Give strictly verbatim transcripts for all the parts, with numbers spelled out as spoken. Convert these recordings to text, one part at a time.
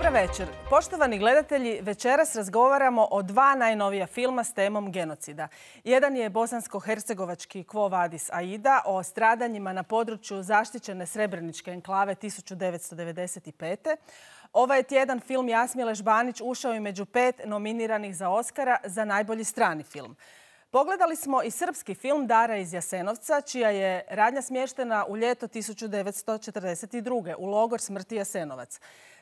Dobar večer. Poštovani gledatelji, večeras razgovaramo o dva najnovija filma s temom genocida. Jedan je bosansko-hercegovački Quo Vadis Aida o stradanjima na području zaštićene Srebreničke enklave tisuću devetsto devedeset pete. Ovaj je tjedan film Jasmile Žbanić ušao i među pet nominiranih za Oskara za najbolji strani film. Pogledali smo i srpski film Dara iz Jasenovca, čija je radnja smještena u ljeto tisuću devetsto četrdeset druge u logor smrti Jasenovac.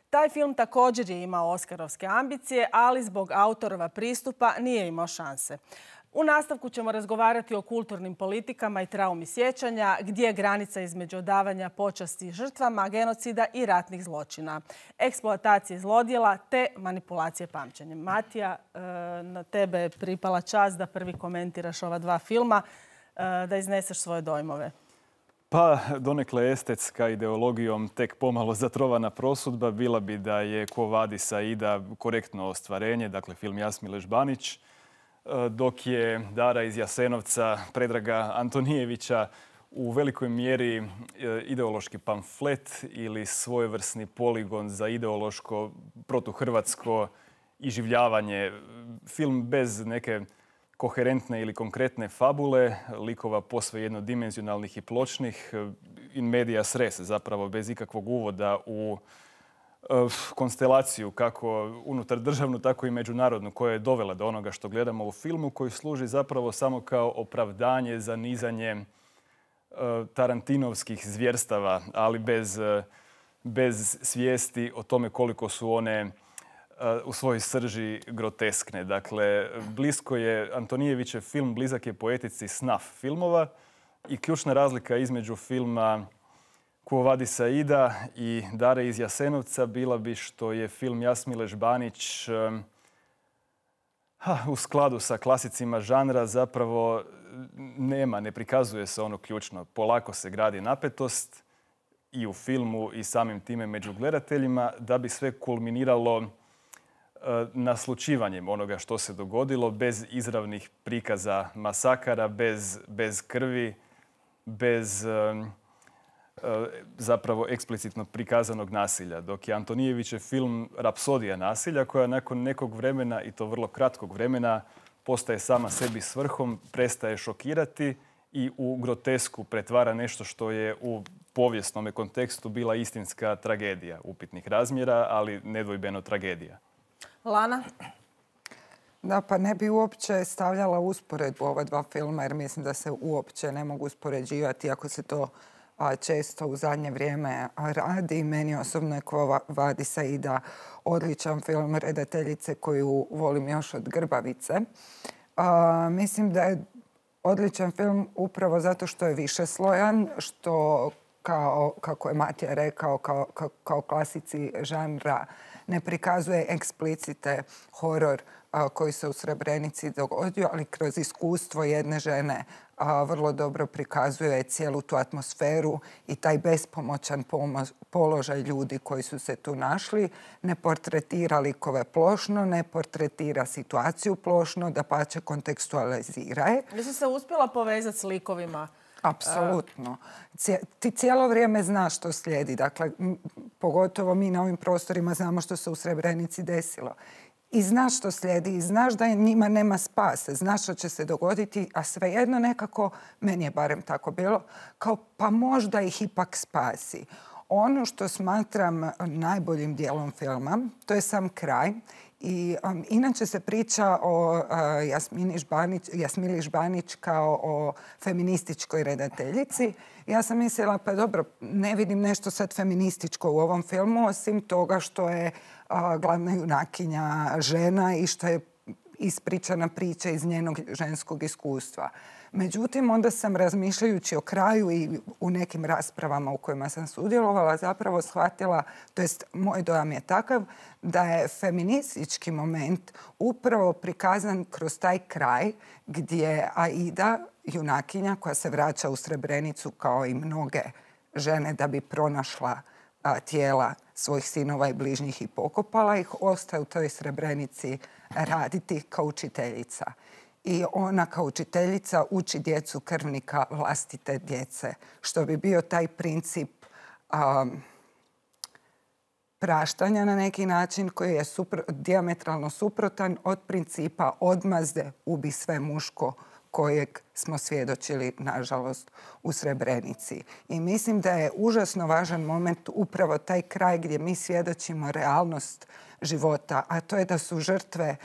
Taj film također je imao oskarovske ambicije, ali zbog autorova pristupa nije imao šanse. U nastavku ćemo razgovarati o kulturnim politikama i traumi sjećanja, gdje je granica između odavanja počasti žrtvama genocida i ratnih zločina, eksploatacije zlodjela te manipulacije pamćenjem. Matija, na tebe je pripala čast da prvi komentiraš ova dva filma, da izneseš svoje dojmove. Pa, donekle estetska ideologijom tek pomalo zatrovana prosudba bila bi da je Quo Vadis Aida korektno ostvarenje, dakle film Jasmile Žbanić, dok je Dara iz Jasenovca Predraga Antonijevića u velikoj mjeri ideološki pamflet ili svojevrsni poligon za ideološko protuhrvatsko iživljavanje. Film bez neke koherentne ili konkretne fabule, likova posve jednodimenzionalnih i pločnih, in medias res, zapravo bez ikakvog uvoda u konstelaciju kako unutar državnu, tako i međunarodnu, koja je dovela do onoga što gledamo u filmu, koji služi zapravo samo kao opravdanje za nizanje tarantinovskih zvjerstava, ali bez, bez svijesti o tome koliko su one u svojoj srži groteskne. Dakle, blisko je Antonijevićev film, blizak je poetici snuff filmova i ključna razlika između filma Quo Vadis Aida i Dare iz Jasenovca bila bi što je film Jasmile Žbanić ha, u skladu sa klasicima žanra zapravo nema, ne prikazuje se ono ključno. Polako se gradi napetost i u filmu i samim time među gledateljima da bi sve kulminiralo naslučivanjem onoga što se dogodilo, bez izravnih prikaza masakara, bez, bez krvi, bez um, zapravo eksplicitno prikazanog nasilja. Dok je Antonijevićev film Rapsodija nasilja, koja nakon nekog vremena, i to vrlo kratkog vremena, postaje sama sebi svrhom, prestaje šokirati i u grotesku pretvara nešto što je u povijesnom kontekstu bila istinska tragedija upitnih razmjera, ali nedvojbeno tragedija. Lana? Da, pa ne bi uopće stavljala usporedbu ova dva filma, jer mislim da se uopće ne mogu uspoređivati, ako se to a, često u zadnje vrijeme radi. Meni osobno je Quo Vadis Aida odličan film redateljice koju volim još od Grbavice. A, mislim da je odličan film upravo zato što je višeslojan, što kao, kako je Matija rekao, kao, kao, kao klasici žanra ne prikazuje eksplicite horor a, koji se u Srebrenici dogodio, ali kroz iskustvo jedne žene a, vrlo dobro prikazuje cijelu tu atmosferu i taj bespomoćan položaj ljudi koji su se tu našli. Ne portretira likove plošno, ne portretira situaciju plošno, dapače kontekstualizira je. Vi ste se uspjela povezati s likovima? Apsolutno. Ti cijelo vrijeme znaš što slijedi. Dakle, pogotovo mi na ovim prostorima znamo što se u Srebrenici desilo. I znaš što slijedi, i znaš da njima nema spasa, znaš što će se dogoditi, a svejedno nekako, meni je barem tako bilo, kao pa možda ih ipak spasi. Ono što smatram najboljim dijelom filma, to je sam kraj. I um, inače se priča o uh, Jasmini Žbanić, Jasmili Žbanić kao o feminističkoj redateljici. Ja sam mislila, pa dobro, ne vidim nešto sad feminističko u ovom filmu, osim toga što je uh, glavna junakinja žena i što je ispričana priča iz njenog ženskog iskustva. Međutim, onda sam razmišljajući o kraju i u nekim raspravama u kojima sam sudjelovala zapravo shvatila, to jest moj dojam je takav, da je feministički moment upravo prikazan kroz taj kraj gdje Aida, junakinja koja se vraća u Srebrenicu kao i mnoge žene da bi pronašla a, tijela svojih sinova i bližnjih i pokopala ih, ostaje u toj Srebrenici raditi kao učiteljica. I ona kao učiteljica uči djecu krvnika vlastite djece, što bi bio taj princip um, praštanja na neki način koji je supro, dijametralno suprotan od principa odmazde ubi sve muško kojeg smo svjedočili, nažalost, u Srebrenici. I mislim da je užasno važan moment upravo taj kraj gdje mi svjedočimo realnost života, a to je da su žrtve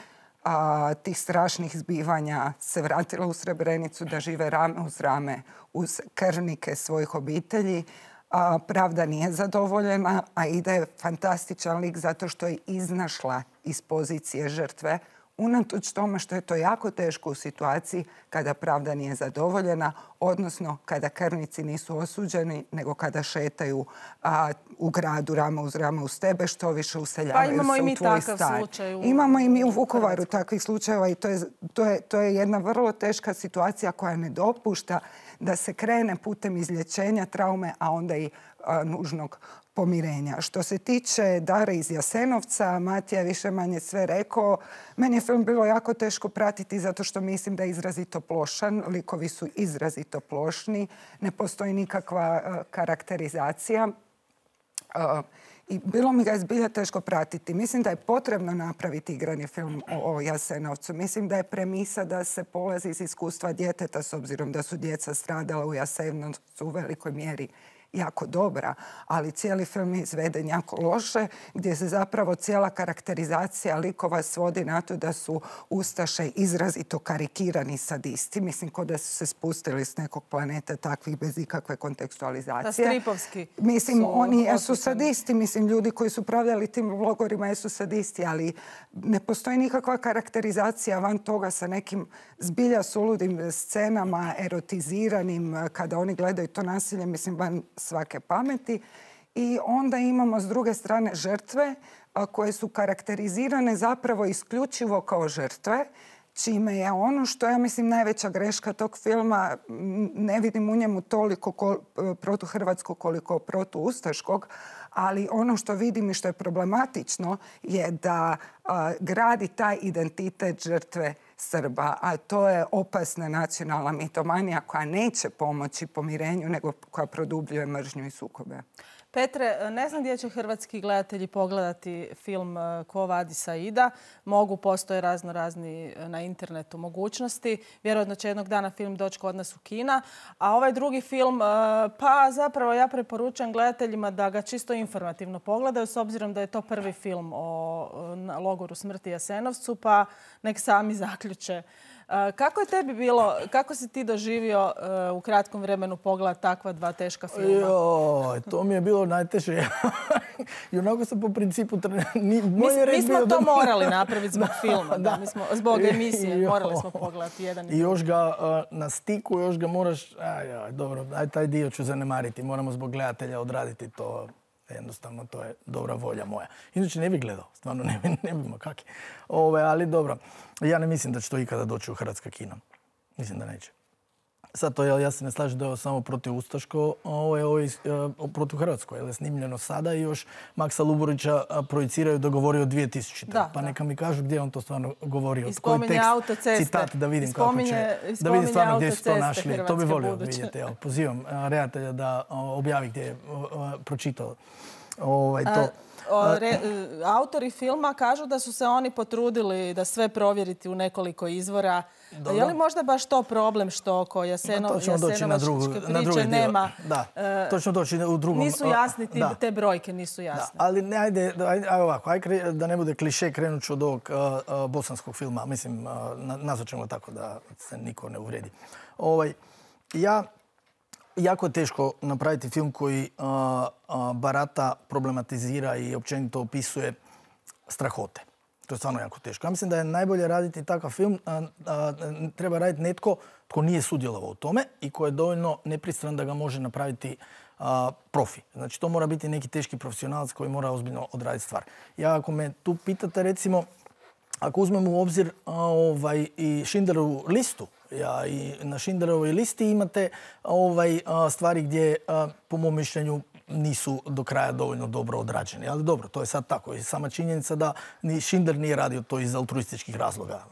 a, tih strašnih zbivanja se vratile u Srebrenicu, da žive rame uz rame uz krvnike svojih obitelji. A, pravda nije zadovoljena, a Ida je fantastičan lik zato što je iznašla iz pozicije žrtve, unatoč tome što je to jako teško u situaciji kada pravda nije zadovoljena, odnosno kada krvnici nisu osuđeni, nego kada šetaju a, u gradu rame uz rame uz tebe, što više useljavaju pa se u tvoj stan. U... Imamo i mi u Vukovaru takvih slučajeva i to je, to, je, to je jedna vrlo teška situacija koja ne dopušta da se krene putem izlječenja traume, a onda i a, nužnog pomirenja. Što se tiče Dare iz Jasenovca, Matija je više manje sve rekao. Meni je film bilo jako teško pratiti zato što mislim da je izrazito plošan. Likovi su izrazito plošni. Ne postoji nikakva uh, karakterizacija. Uh, I bilo mi ga je zbilja teško pratiti. Mislim da je potrebno napraviti igrani film o, o Jasenovcu. Mislim da je premisa da se polazi iz iskustva djeteta, s obzirom da su djeca stradala u Jasenovcu u velikoj mjeri jako dobra, ali cijeli film je izveden jako loše, gdje se zapravo cijela karakterizacija likova svodi na to da su ustaše izrazito karikirani sadisti. Mislim, ko da su se spustili s nekog planeta takvih bez ikakve kontekstualizacije. Da, stripovski. Mislim, oni jesu sadisti. Mislim, ljudi koji su upravljali tim logorima jesu sadisti, ali ne postoji nikakva karakterizacija van toga sa nekim zbilja suludim scenama, erotiziranim, kada oni gledaju to nasilje, mislim, van svake pameti. I onda imamo s druge strane žrtve koje su karakterizirane zapravo isključivo kao žrtve, čime je ono što ja mislim najveća greška tog filma, ne vidim u njemu toliko kol, protuhrvatskog koliko protuustaškog, ali ono što vidim i što je problematično je da a, gradi taj identitet žrtve Srba, a to je opasna nacionalna mitomanija koja neće pomoći pomirenju, nego koja produbljuje mržnju i sukobe. Petre, ne znam gdje će hrvatski gledatelji pogledati film Quo Vadis Aida. Mogu, postoje razno razni na internetu mogućnosti. Vjerojatno će jednog dana film doći kod nas u kina. A ovaj drugi film, pa zapravo ja preporučam gledateljima da ga čisto informativno pogledaju, s obzirom da je to prvi film o logoru smrti Jasenovcu, pa nek sami zaključe. Kako je tebi bilo, kako si ti doživio uh, u kratkom vremenu pogled takva dva teška filma? Jo, to mi je bilo najteže. I onako sam po principu... Ni, mi, mi smo to da... morali napraviti zbog filma, da. Da, mi smo, zbog emisije. Jo. Morali smo pogledati jedan i I još ga uh, na stiku, još ga moraš... Aj, aj, dobro, aj taj dio ću zanemariti. Moramo zbog gledatelja odraditi to. Jednostavno, to je dobra volja moja. Inače, ne bih gledao. Stvarno, ne bi, ne bi kaki. Ove, ali dobro. Ja ne mislim da će to ikada doći u hrvatska kina. Mislim da neće. Sad to, ja se ne slažem da je ovo samo protiv Ustaško, ovo je ovo je protiv Hrvatsko. Je snimljeno sada i još Maksa Luburića projiciraju da govori o dvije tisućite. Da, pa neka mi kažu gdje on to stvarno govorio. Koji tekst, autoceste. Citat, da vidim kako će. Da vidim stvarno gdje su to našli. To bi volio buduće. Vidjeti. Evo, pozivam redatelja da objavi gdje je pročitao ovaj, to. A... Re, autori filma kažu da su se oni potrudili da sve provjeriti u nekoliko izvora. Dobro. Je li možda baš to problem što oko Jaseno, to ćemo doći na drugu, priče na drugi nema... Da, to ćemo doći u drugom... Nisu jasni, ti, te brojke nisu jasne. Da, ali ne, ajde, ajde, ajde ovako, ajde da ne bude kliše, krenut ću od ovog uh, uh, bosanskog filma. Mislim, uh, nazvat ćemo tako da se niko ne uvredi. Ovaj, ja... Jako je teško napraviti film koji uh, uh, barata, problematizira i općenito opisuje strahote. To je stvarno jako teško. Ja mislim da je najbolje raditi takav film. Uh, uh, treba raditi netko tko nije sudjelovao u tome i ko je dovoljno nepristran da ga može napraviti uh, profi. Znači, to mora biti neki teški profesionalac koji mora ozbiljno odraditi stvar. Ja, ako me tu pitate, recimo, ako uzmemo u obzir uh, ovaj, i Schindlerovu listu, ja, i na Schindlerovoj listi imate ovaj, a, stvari gdje, a, po mom mišljenju, nisu do kraja dovoljno dobro odrađeni. Ali dobro, to je sad tako. I sama činjenica da ni Schindler nije radio to iz altruističkih razloga,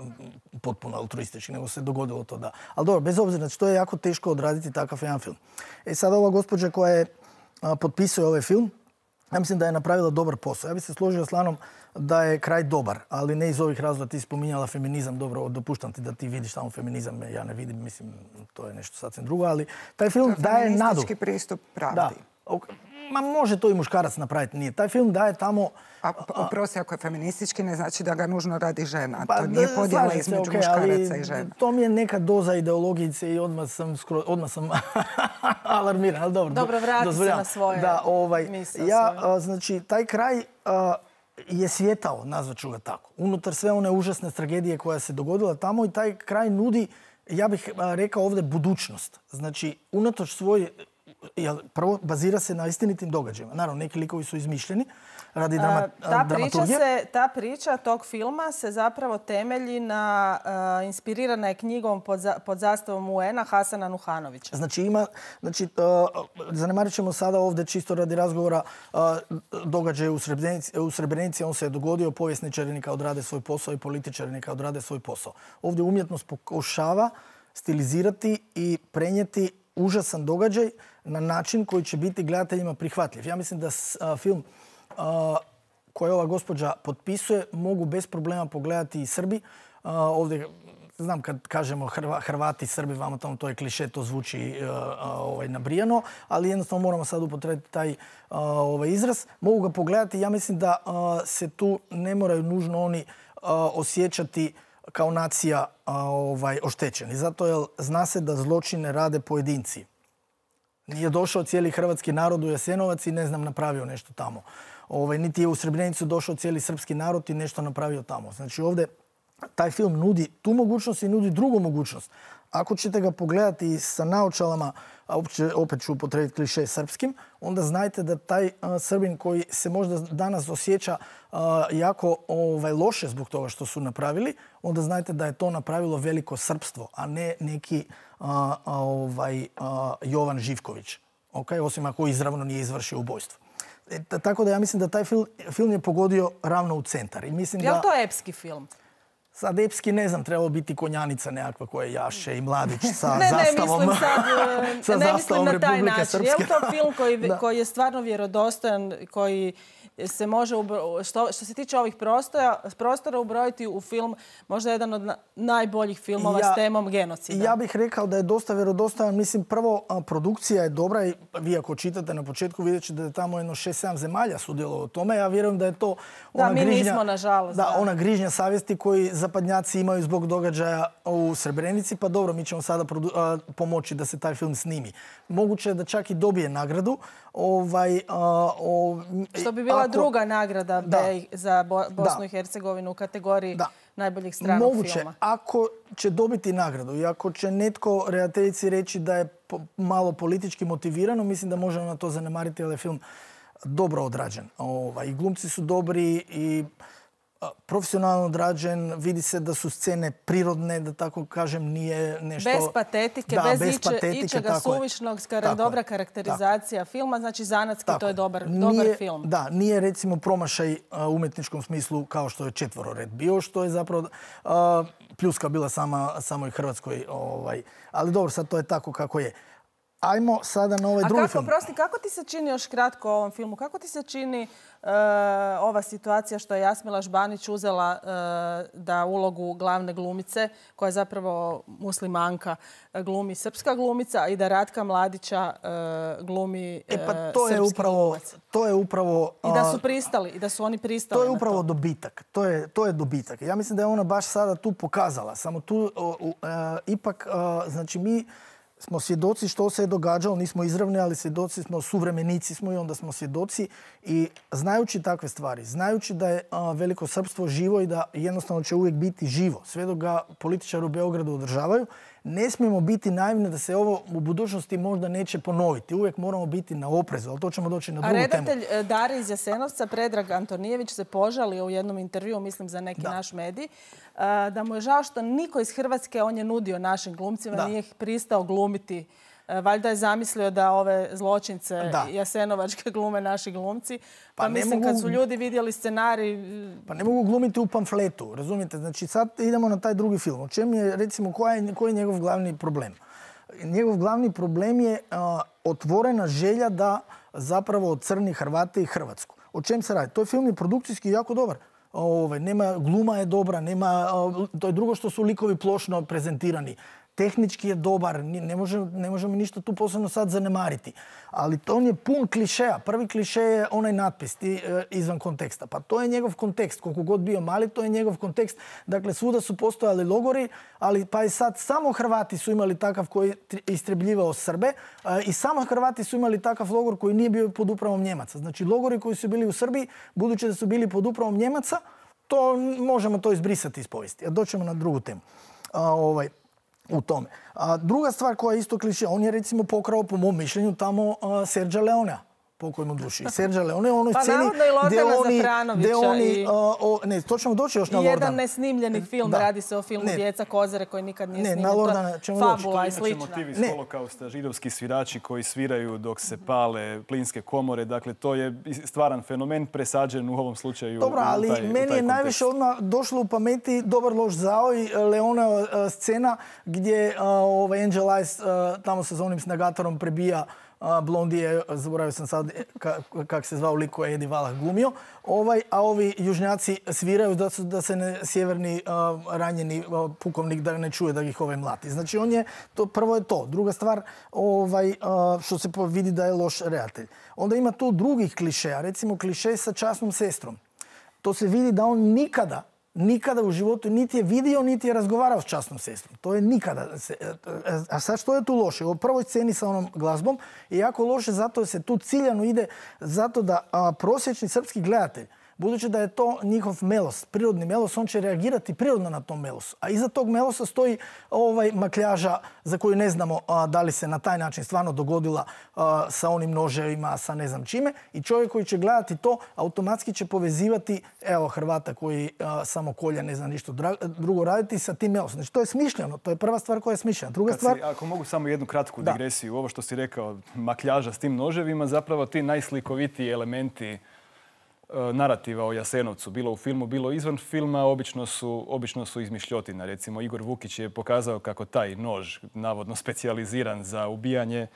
potpuno altruističkih, nego se dogodilo to da. Ali dobro, bez obzira, znači to je jako teško odraditi takav jedan film. E sad ova gospođa koja je a, potpisuje ovaj film, Ja mislim da je napravila dobar posao. Ja bih se složio s Lanom da je kraj dobar, ali ne iz ovih razloga. Ti spominjala feminizam, dobro, dopuštam ti da ti vidiš tamo feminizam, ja ne vidim, mislim, to je nešto sasvim drugo, ali taj film daje nadu. Feministički pristup pravdi. Da. Ma može to i muškarac napraviti, nije. Taj film daje tamo... A oprosti, ako je feministički, ne znači da ga nužno radi žena. Pa, to nije podjela se, između okay, muškaraca i žena. To mi je neka doza ideologijice i odmah sam, skro, odmah sam alarmiran. Ali dobro, dobro, vrati se na svoje da, ovaj, misle. Ja, a, znači, taj kraj a, je svjetao, nazvat ću ga tako. Unutar sve one užasne tragedije koja se dogodila tamo i taj kraj nudi, ja bih a, rekao ovdje, budućnost. Znači, unatoč svoj... Jel, prvo, bazira se na istinitim događajima. Naravno, neki likovi su izmišljeni radi drama, A, ta dramaturgije. Priča se, ta priča tog filma se zapravo temelji na, uh, inspirirana je knjigom pod, za, pod zastavom U N-a Hasana Nuhanovića. Znači, ima, znači, uh, zanemarit ćemo sada ovdje čisto radi razgovora uh, događaj u Srebrenici, u Srebrenici. On se je dogodio, povjesničari neka odrade svoj posao i političari neka odrade svoj posao. Ovdje umjetnost pokušava stilizirati i prenijeti užasan događaj na način koji će biti gledateljima prihvatljiv. Ja mislim da a, film a, koji ova gospođa potpisuje mogu bez problema pogledati i Srbi. A, ovdje, znam kad kažemo Hrva, Hrvati, Srbi, vamo tamo to je kliše, to zvuči a, a, ovaj, nabrijano, ali jednostavno moramo sad upotrebiti taj a, ovaj izraz. Mogu ga pogledati. Ja mislim da a, se tu ne moraju nužno oni a, osjećati kao nacija a, ovaj, oštećeni. Zato jer zna se da zločine rade pojedinci. Nije došao cijeli hrvatski narod u Jasenovac i ne znam napravio nešto tamo. Ovaj, niti je u Srebrenicu došao cijeli srpski narod i nešto napravio tamo. Znači ovdje taj film nudi tu mogućnost i nudi drugu mogućnost. Ako ćete ga pogledati sa naočalama, a opet ću upotrijebiti kliše srpskim, onda znajte da taj a, Srbin koji se možda danas osjeća a, jako ovaj, loše zbog toga što su napravili, onda znajte da je to napravilo veliko srpstvo, a ne neki a, a, ovaj, a, Jovan Živković. Okay? Osim ako izravno nije izvršio ubojstvo. E, tako da ja mislim da taj film, film je pogodio ravno u centar. I mislim je li da... to epski film? Sad epski, ne znam, trebalo biti konjanica nekakva koja jaše i mladić sa ne, zastavom, ne, mislim sad, sa ne zastavom mislim na taj Republike način. Srpske. Je li to film koji, koji je stvarno vjerodostojan, koji se može, što, što se tiče ovih prostora, prostora ubrojiti u film, možda jedan od na, najboljih filmova ja, s temom genocida? Ja bih rekao da je dosta vjerodostojan. Mislim, prvo, produkcija je dobra i vi ako čitate na početku vidjet ćete da je tamo jedno šest sedam zemalja sudjelovalo u tome. Ja vjerujem da je to ona da, mi grižnja, nismo, nažalost. Da, Da, ona grižnja savjesti koji zapadnjaci imaju zbog događaja u Srebrenici. Pa dobro, mi ćemo sada produ, a, pomoći da se taj film snimi. Moguće je da čak i dobije nagradu. Ovaj, a, o, što bi bila ako, druga nagrada da, B za Bo, Bosnu da, i Hercegovinu u kategoriji da, najboljih stranog moguće, filma. Moguće, ako će dobiti nagradu i ako će netko redateljici reći da je po, malo politički motivirano, mislim da možemo na to zanemariti, ali je film dobro odrađen. Ovaj, i glumci su dobri i profesionalno odrađen, vidi se da su scene prirodne, da tako kažem, nije nešto... Bez patetike, da, bez, bez iče, patetike, ičega suvišnog, skara, dobra je. karakterizacija tako filma, znači zanatski tako to je dobar, nije, dobar film. Da, nije recimo promašaj u umjetničkom smislu kao što je Četvorored bio, što je zapravo uh, pljuska bila sama, samoj Hrvatskoj. Ovaj. Ali dobro, sad to je tako kako je. Ajmo sada na ovaj A drugi kako, film. Prosti, kako ti se čini još kratko o ovom filmu? Kako ti se čini uh, ova situacija što je Jasmila Žbanić uzela uh, da ulogu glavne glumice, koja je zapravo muslimanka, glumi srpska glumica i da Ratka Mladića uh, glumi uh, e pa to je upravo, glumac? To je upravo... I da su pristali, i da su oni pristali To je upravo to. dobitak. To je, to je dobitak. Ja mislim da je ona baš sada tu pokazala. Samo tu uh, uh, ipak, uh, znači mi smo svjedoci što se je događalo, nismo izravni, ali svjedoci smo, suvremenici smo i onda smo svjedoci. I znajući takve stvari, znajući da je a, veliko srpstvo živo i da jednostavno će uvijek biti živo, sve dok ga političari u Beogradu održavaju, ne smijemo biti naivni da se ovo u budućnosti možda neće ponoviti. Uvijek moramo biti na oprezu, ali to ćemo doći na drugu temu. A redatelj Dare iz Jasenovca, Predrag Antonijević, se požalio u jednom intervjuu, mislim za neki da. naš medij, da mu je žao što niko iz Hrvatske, on je nudio našim glumcima, da. nije ih pristao glumiti. Valjda je zamislio da ove zločince da. jasenovačke glume naši glumci. Pa, pa mislim, mogu, kad su ljudi vidjeli scenarij... Pa ne mogu glumiti u pamfletu, razumijete? Znači sad idemo na taj drugi film. O čem je, recimo, koji je, koji je njegov glavni problem? Njegov glavni problem je uh, otvorena želja da zapravo crni Hrvate i Hrvatsku. O čem se radi? To je film je produkcijski jako dobar. Ove, nema, gluma je dobra, nema, to je drugo što su likovi plošno prezentirani. Tehnički je dobar, ne, može, ne možemo ništa tu posebno sad zanemariti. Ali to on je pun klišeja. Prvi kliše je onaj natpis ti, e, izvan konteksta. Pa to je njegov kontekst. Koliko god bio mali, to je njegov kontekst. Dakle, svuda su postojali logori, ali pa i sad samo Hrvati su imali takav koji je istrebljivao Srbe e, i samo Hrvati su imali takav logor koji nije bio pod upravom Njemaca. Znači, logori koji su bili u Srbiji, budući da su bili pod upravom Njemaca, to možemo to izbrisati iz povijesti. A doćemo na drugu temu. A, ovaj, u tome. A druga stvar koja je isto kliše, on je recimo pokrao po mom mišljenju tamo uh, Sergio Leonea. Pokoj mu duši. Sergio Leone u onoj pa sceni gdje oni, gdje oni i... uh, o, ne, to ćemo doći još na Lordana. Jedan nesnimljeni film, da. Radi se o filmu ne. Djeca Kozare koji nikad nije ne, snimljen. Na Lordana ćemo Fabula doći. i slična. Motivi iz holokausta, židovski svirači koji sviraju dok se pale plinske komore. Dakle, to je stvaran fenomen presađen u ovom slučaju. Dobro, ali u taj, meni u taj je kontekst. najviše odmah došlo u pameti Dobar loš zao i Leona uh, scena gdje uh, ovaj Angel Eyes uh, tamo se za onim snagatorom prebija Blondije, zaboravio sam sad kako ka, se zvao lik koji je Eddie Valah glumio, ovaj, a ovi južnjaci sviraju da, su, da se ne sjeverni uh, ranjeni uh, pukovnik da ne čuje da ih ovaj mlati. Znači on je, to, prvo je to. Druga stvar, ovaj, uh, što se vidi da je loš redatelj. Onda ima tu drugih klišeja, recimo kliše sa časnom sestrom. To se vidi da on nikada Nikada u životu niti je vidio, niti je razgovarao s časnom sestrom. To je nikada. A sad što je tu loše? U prvoj sceni sa onom glazbom je jako loše zato se tu ciljano ide zato da a, prosječni srpski gledatelj, budući da je to njihov melos, prirodni melos, on će reagirati prirodno na tom melosu. A iza tog melosa stoji ovaj makljaža za koju ne znamo a, da li se na taj način stvarno dogodila a, sa onim noževima, sa ne znam čime. I čovjek koji će gledati to, automatski će povezivati, evo, Hrvata koji a, samo kolja, ne zna ništa drugo raditi sa tim melosom. Znači, to je smišljeno. To je prva stvar koja je smišljena. Druga Kad stvar... Si, ako mogu samo jednu kratku digresiju, ovo što si rekao, makljaža s tim noževima, zapravo ti najslikovitiji elementi narativa o Jasenovcu, bilo u filmu, bilo izvan filma, obično su, obično su izmišljotina. Recimo, Igor Vukić je pokazao kako taj nož, navodno specijaliziran za ubijanje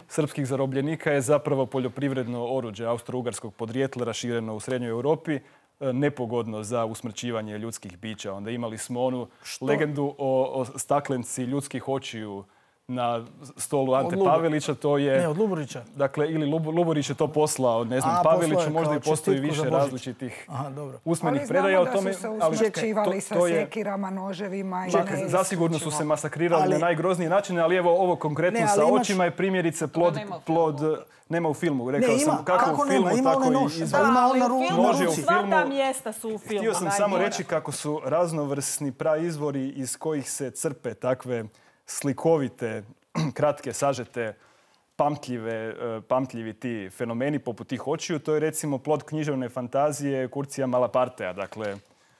srpskih zarobljenika, je zapravo poljoprivredno oruđe austro-ugarskog podrijetla rašireno u Srednjoj Europi, nepogodno za usmrćivanje ljudskih bića. Onda imali smo onu Što? legendu o, o staklenci ljudskih očiju na stolu Ante Pavelića, to je... Ne, od Luburića. Dakle, ili Luburić je to poslao, ne znam, A, Paveliću, možda i postoji više različitih Aha, dobro. usmenih predaja o tome. Ali znamo da su se usmrćivali sa sekirama, noževima i čekaj, ne zasigurno su se masakrirali ali, na najgroznije načine, ali evo ovo konkretno ne, sa imaš... očima je primjerice plod... Nema plod nema u filmu, rekao ne, ima, sam kako, kako u filmu, nema, tako nož, i... Da, ali u filmu, nože u sva ta mjesta su u filmu. Htio sam samo reći kako su raznovrsni praizvori iz kojih se crpe takve slikovite, kratke, sažete, pamtljive, pamtljivi ti fenomeni poput tih očiju. To je recimo plod književne fantazije Kurcija Malapartea, dakle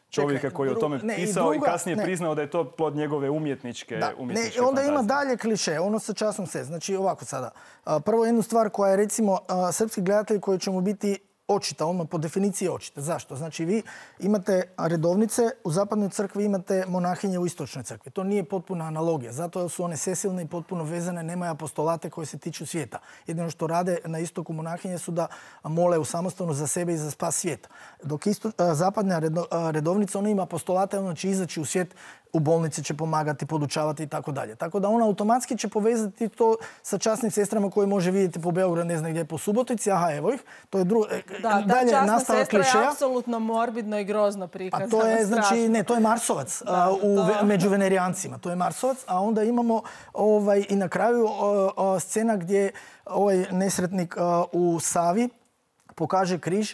čovjeka Čekaj, koji je o tome ne, pisao i, druga, i kasnije ne. priznao da je to plod njegove umjetničke, da, umjetničke ne, onda fantazije. Ima dalje kliše, ono sa časom se. Znači ovako sada. Prvo jednu stvar koja je recimo srpski gledatelj koji će mu biti očita, odmah po definiciji očita. Zašto? Znači vi imate redovnice, u zapadnoj crkvi imate monahinje u istočnoj crkvi. To nije potpuna analogija. Zato su one sesilne i potpuno vezane, nemaju apostolate koje se tiču svijeta. Jedino što rade na istoku monahinje su da mole u samostanu za sebe i za spas svijeta. Dok isto, zapadna redovnica, ona ima apostolate, ona će izaći u svijet, u bolnici će pomagati, podučavati i tako dalje. Tako da ona automatski će povezati to sa časnim sestrama koje može vidjeti po Beogradu, ne znam gdje, po Subotici. Aha, evo ih. To je drugo. Da, ta časna sestra je apsolutno morbidno i grozno prikazana. A to je, znači, ne, to je Marsovac da, uh, u, to... među venerijancima. To je Marsovac, a onda imamo ovaj, i na kraju uh, uh, scena gdje ovaj nesretnik uh, u Savi pokaže križ.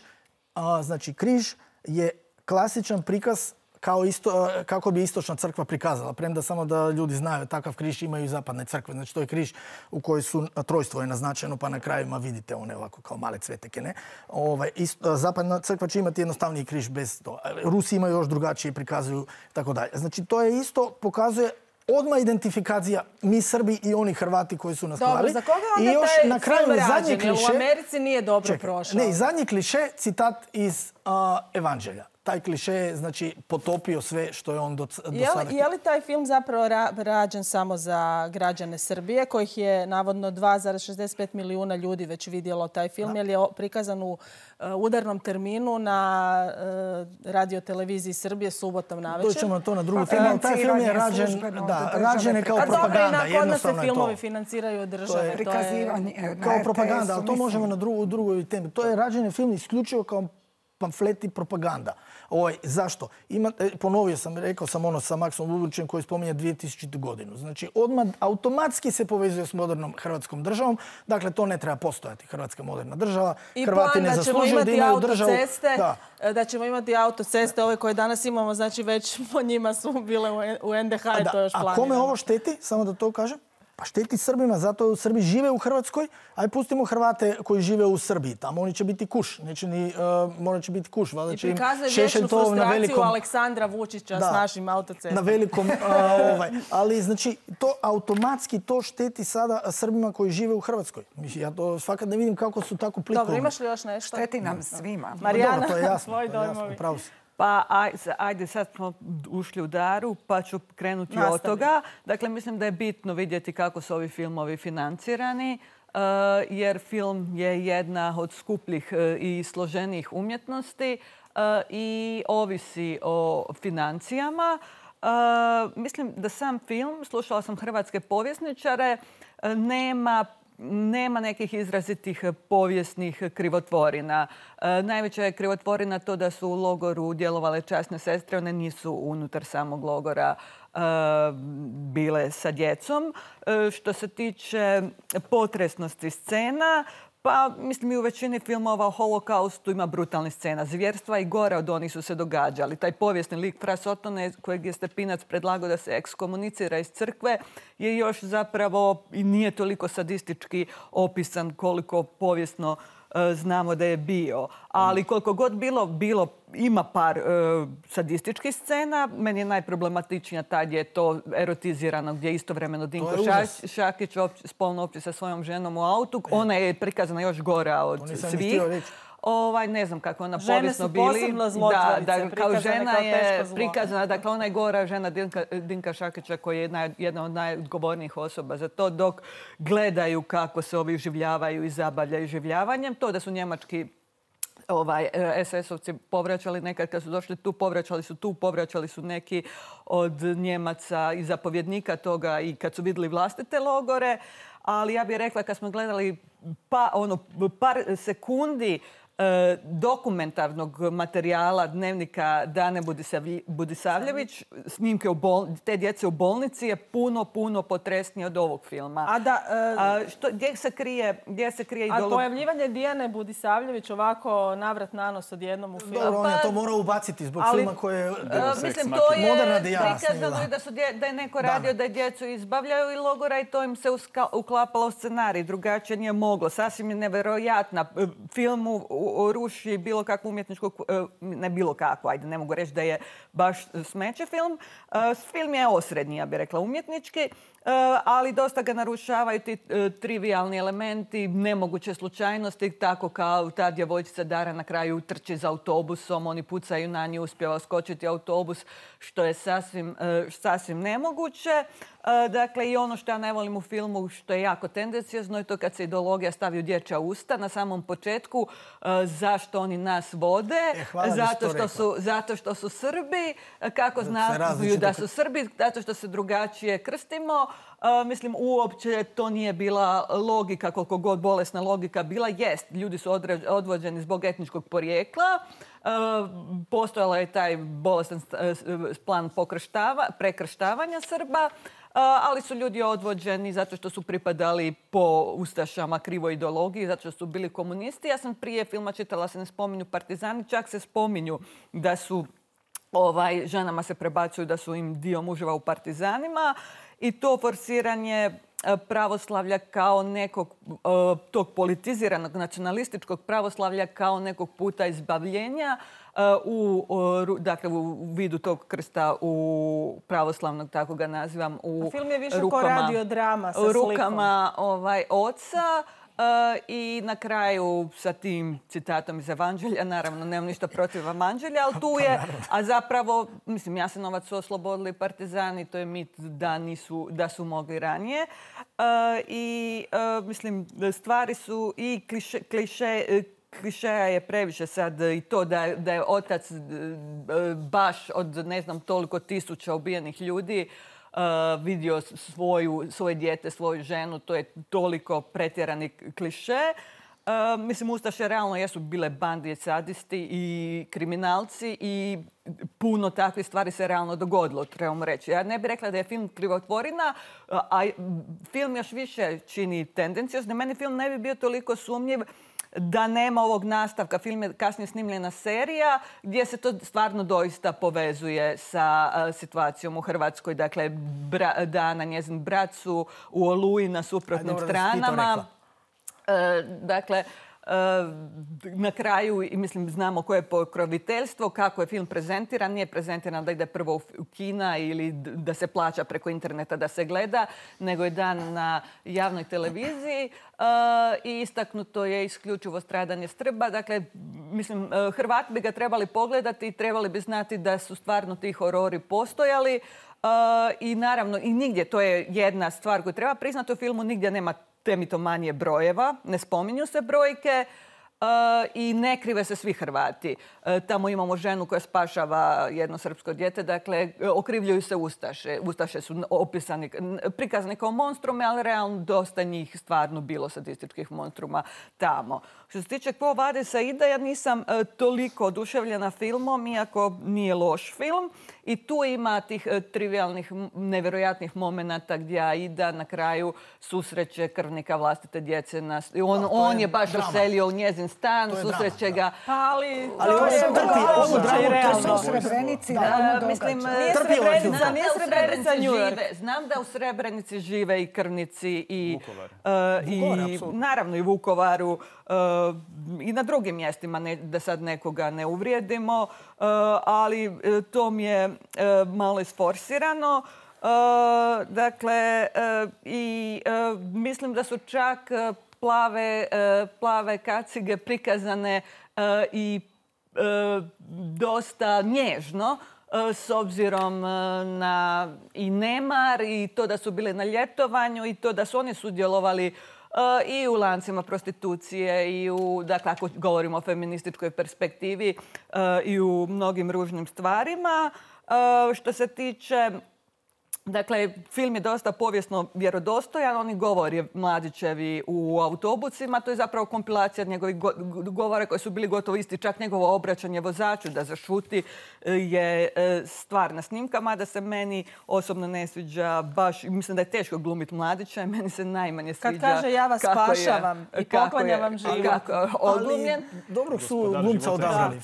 Uh, znači, križ je klasičan prikaz kao isto, kako bi istočna crkva prikazala. Premda samo da ljudi znaju, takav križ imaju i zapadne crkve. Znači to je križ u kojoj su trojstvo je naznačeno, pa na krajima vidite one ovako kao male cveteke. Ne? Ovaj, isto, zapadna crkva će imati jednostavniji križ bez to. Rusi imaju još drugačije, prikazuju tako dalje. Znači to je isto, pokazuje odmah identifikacija mi Srbi i oni Hrvati koji su nas Dobro, klali. za koga onda I još taj na kraju film zadnji rađen? kliše, U Americi nije dobro čekaj, prošao. Ne, zadnji kliše, citat iz uh, Evanđelja. taj kliše je znači, potopio sve što je on do, do je li, sada... Je li taj film zapravo ra, rađen samo za građane Srbije, kojih je navodno dva zarez šezdeset pet milijuna ljudi već vidjelo taj film, jer je prikazan u uh, udarnom terminu na uh, radioteleviziji Srbije subotom navečer? Doćemo na to na drugu temu, ali taj film je rađen, da, rađen je kao propaganda. A dobro, i kod nas se filmovi financiraju od države. To je prikazivanje kao propaganda, ali to možemo na drugu, drugoj temi. To je rađen film isključivo kao pamflet i propaganda. Ovaj, zašto? Ima, ponovio sam, rekao sam ono sa Maksom Lulićem koji spominje dvije tisuću godinu. Znači, odmah automatski se povezuje s modernom hrvatskom državom. Dakle, to ne treba postojati, hrvatska moderna država. I Hrvati ne zaslužuju da imaju državu. Da. da ćemo imati autoceste, ove koje danas imamo, znači već po njima su bile u en de ha i to još planirano. A kome ovo šteti? Samo da to kažem. Pa šteti Srbima, zato Srbi žive u Hrvatskoj, aj pustimo Hrvate koji žive u Srbiji. Tamo oni će biti kuš, neće ni, uh, morat će biti kuš. I prikazuje vječnu frustraciju velikom, Aleksandra Vučića da, s našim autocestom. Na velikom, uh, ovaj. Ali znači, to automatski to šteti sada Srbima koji žive u Hrvatskoj. Ja to fakat ne vidim kako su tako plikovni. Dobro, imaš li još nešto? Šteti nam svima. Marijana, dobro, to je jasno, svoj dojmovi. Pravo si. Pa ajde, sad smo ušli u Daru, pa ću krenuti Nastavim. od toga. Dakle, mislim da je bitno vidjeti kako su ovi filmovi financirani, jer film je jedna od skupljih i složenijih umjetnosti i ovisi o financijama. Mislim da sam film, slušala sam hrvatske povjesničare, nema Nema nekih izrazitih povijesnih krivotvorina. E, najveća je krivotvorina to da su u logoru djelovale časne sestre. One nisu unutar samog logora e, bile sa djecom. E, što se tiče potresnosti scena, pa mislim i u većini filmova o holokaustu ima brutalnih scena. Zvjerstva i gore od onih su se događali. Taj povijesni lik Fra Sotone kojeg je Stepinac predlagao da se ekskomunicira iz crkve je još zapravo i nije toliko sadistički opisan koliko povijesno e, znamo da je bio. Ali koliko god bilo, bilo ima par e, sadističkih scena. Meni je najproblematičnija ta gdje je to erotizirano, gdje je istovremeno Dinko Ša, Šakić opći, spolno opći sa svojom ženom u autu. E. Ona je prikazana još gora od svih. Ovaj, ne znam kako ona povijesno bili. Žene su posebno zlotvorice, da, da, kao žena kao je prikazana, dakle ona je gora žena Dinka, Dinka Šakića koji je naj, jedna od najodgovornijih osoba za to, dok gledaju kako se ovi življavaju i zabavljaju življavanjem. To da su njemački ovaj, es es-ovci povraćali nekad kad su došli tu, povraćali su tu, povraćali su neki od Njemaca i zapovjednika toga i kad su vidjeli vlastite logore. Ali ja bih rekla kad smo gledali pa, ono, par sekundi dokumentarnog materijala dnevnika Dane Budisavljević, snimke u bol... te djece u bolnici je puno, puno potresnije od ovog filma. A da... Uh... A što, gdje se krije, gdje se krije ideolog... A pojavljivanje Dijane Budisavljević ovako navrat na nos odjednom u filmu? Dobro, on je to morao ubaciti zbog ali, filma koje je... Uh, mislim, to je moderna Dijana prikazano i da, su dje, da je neko radio da, da djecu izbavljaju i logora i to im se uska, uklapalo u scenarij. Drugačije nije moglo. Sasvim je nevjerojatna. Filmu ruši bilo kakvu umjetničku, ne bilo kakvu, ajde, ne mogu reći da je baš smeće film. Film je osrednji, ja bih rekla, umjetnički, ali dosta ga narušavaju ti trivialni elementi, nemoguće slučajnosti, tako kao ta djevojčica Dara na kraju trči za autobusom, oni pucaju na nju, uspjeva skočiti autobus, što je sasvim, sasvim nemoguće. Dakle, i ono što ja ne volim u filmu, što je jako tendenciozno, je to kad se ideologija stavi u dječja usta na samom početku. Zašto oni nas vode? E, hvala zato, što su, zato što su Srbi. Kako znaju da su Srbi? Zato što se drugačije krstimo. Uh, mislim, uopće to nije bila logika, koliko god bolesna logika bila. Jest, ljudi su određ, odvođeni zbog etničkog porijekla. Uh, postojala je taj bolestan uh, plan prekrštavanja Srba. Uh, ali su ljudi odvođeni zato što su pripadali po ustašama krivoj ideologiji, zato što su bili komunisti. Ja sam prije filma čitala, se ne spominju partizani, čak se spominju da su ovaj, ženama se prebacuju da su im dio muževa u partizanima i to forsiranje pravoslavlja kao nekog tog politiziranog nacionalističkog pravoslavlja kao nekog puta izbavljenja u, dakle, u vidu tog krsta u pravoslavnog, tako ga nazivam, u film je više rukama, kao radiodrama sa slikom. rukama ovaj, oca. I na kraju sa tim citatom iz Evanđelja, naravno nemam ništa protiv Evanđelja, ali tu je, a zapravo, mislim, Jasenovac su oslobodili partizani, to je mit da, nisu, da su mogli ranije. I mislim, stvari su i kliše, kliše klišeja je previše sad i to da, da je otac baš od ne znam toliko tisuća ubijenih ljudi uh, vidio svoju, svoje dijete, svoju ženu. To je toliko pretjerani kliše. Uh, mislim, Ustaše realno jesu bile bandije, sadisti i kriminalci i puno takvih stvari se realno dogodilo, trebamo reći. Ja ne bih rekla da je film krivotvorina, a film još više čini tendencijozno. Meni film ne bi bio toliko sumnjiv da nema ovog nastavka. Film je kasnije snimljena serija gdje se to stvarno doista povezuje sa uh, situacijom u Hrvatskoj. Dakle, bra, Dana, njezin brat su u Oluji na suprotnim Aj, dobro, stranama. Uh, dakle, na kraju, mislim, znamo koje je pokroviteljstvo, kako je film prezentiran. Nije prezentiran da ide prvo u kina ili da se plaća preko interneta da se gleda, nego je dan na javnoj televiziji i istaknuto je isključivo stradanje Srba. Dakle, mislim, Hrvati bi ga trebali pogledati i trebali bi znati da su stvarno ti horori postojali. I naravno, i nigdje, to je jedna stvar koju treba priznati u filmu, nigdje nema temitomanije brojeva, ne spominju se brojke uh, i ne krive se svi Hrvati. Uh, tamo imamo ženu koja spašava jedno srpsko dijete, dakle, okrivljuju se Ustaše. Ustaše su opisani, prikazani kao monstrume, ali realno dosta njih stvarno bilo sadističkih monstruma tamo. Što se tiče Quo Vadis Aida, ja nisam uh, toliko oduševljena filmom, iako nije loš film. I tu ima tih uh, trivialnih, nevjerojatnih momenata gdje Aida na kraju susreće krvnika vlastite djece. Na, on, no, on je, je baš doselio u njezin stan, susreće ga. Ali, ali to je realno. To su Srebrenici, realno mislim, nije Srebrenica, nije Srebrenica New York. Znam da u Srebrenici žive i krvnici i, Vukovar. Uh, i naravno i Vukovaru. Uh, i na drugim mjestima, ne, da sad nekoga ne uvrijedimo, uh, ali uh, to mi je uh, malo isforsirano. Uh, dakle, uh, i uh, mislim da su čak uh, plave, uh, plave kacige prikazane uh, i uh, dosta nježno, uh, s obzirom uh, na i nemar i to da su bili na ljetovanju i to da su oni sudjelovali Uh, i u lancima prostitucije i u, dakle, ako govorimo o feminističkoj perspektivi, uh, i u mnogim ružnim stvarima. Uh, što se tiče, dakle, film je dosta povijesno vjerodostojan. Oni govori Mladićevi u autobusima. To je zapravo kompilacija njegovih go govora koji su bili gotovo isti. Čak njegovo obraćanje vozaču da zašuti je stvarna snimka, mada se meni osobno ne sviđa baš. Mislim da je teško glumiti Mladića i meni se najmanje sviđa. Kad kaže ja vas spašavam i poklonjam vam život. Kako odglumljen. Dobro su glumca odabrali.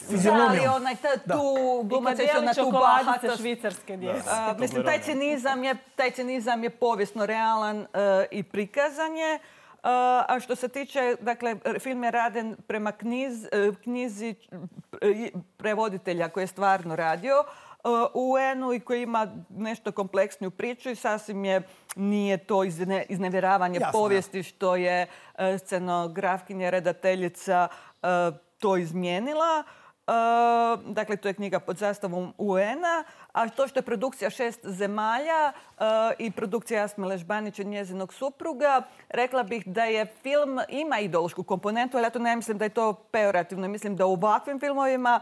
Ali onaj tu glumac je na tu bahatost. Švicarske djece. Mislim, taj cinizam je, taj cinizam je povijesno realan uh, i prikazan je. Uh, a što se tiče, dakle, film je raden prema knjiz, uh, knjizi uh, prevoditelja koji je stvarno radio uh, u U N-u i koji ima nešto kompleksniju priču i sasvim je, nije to izne, iznevjeravanje Jasno. povijesti što je uh, scenografkinja, redateljica uh, to izmijenila. Uh, dakle, to je knjiga pod zastavom U N-a, a to što je produkcija šest zemalja uh, i produkcija Jasmile Ležbanić i njezinog supruga, rekla bih da je film ima ideološku komponentu, ali ja to ne mislim da je to pejorativno. Mislim da u ovakvim filmovima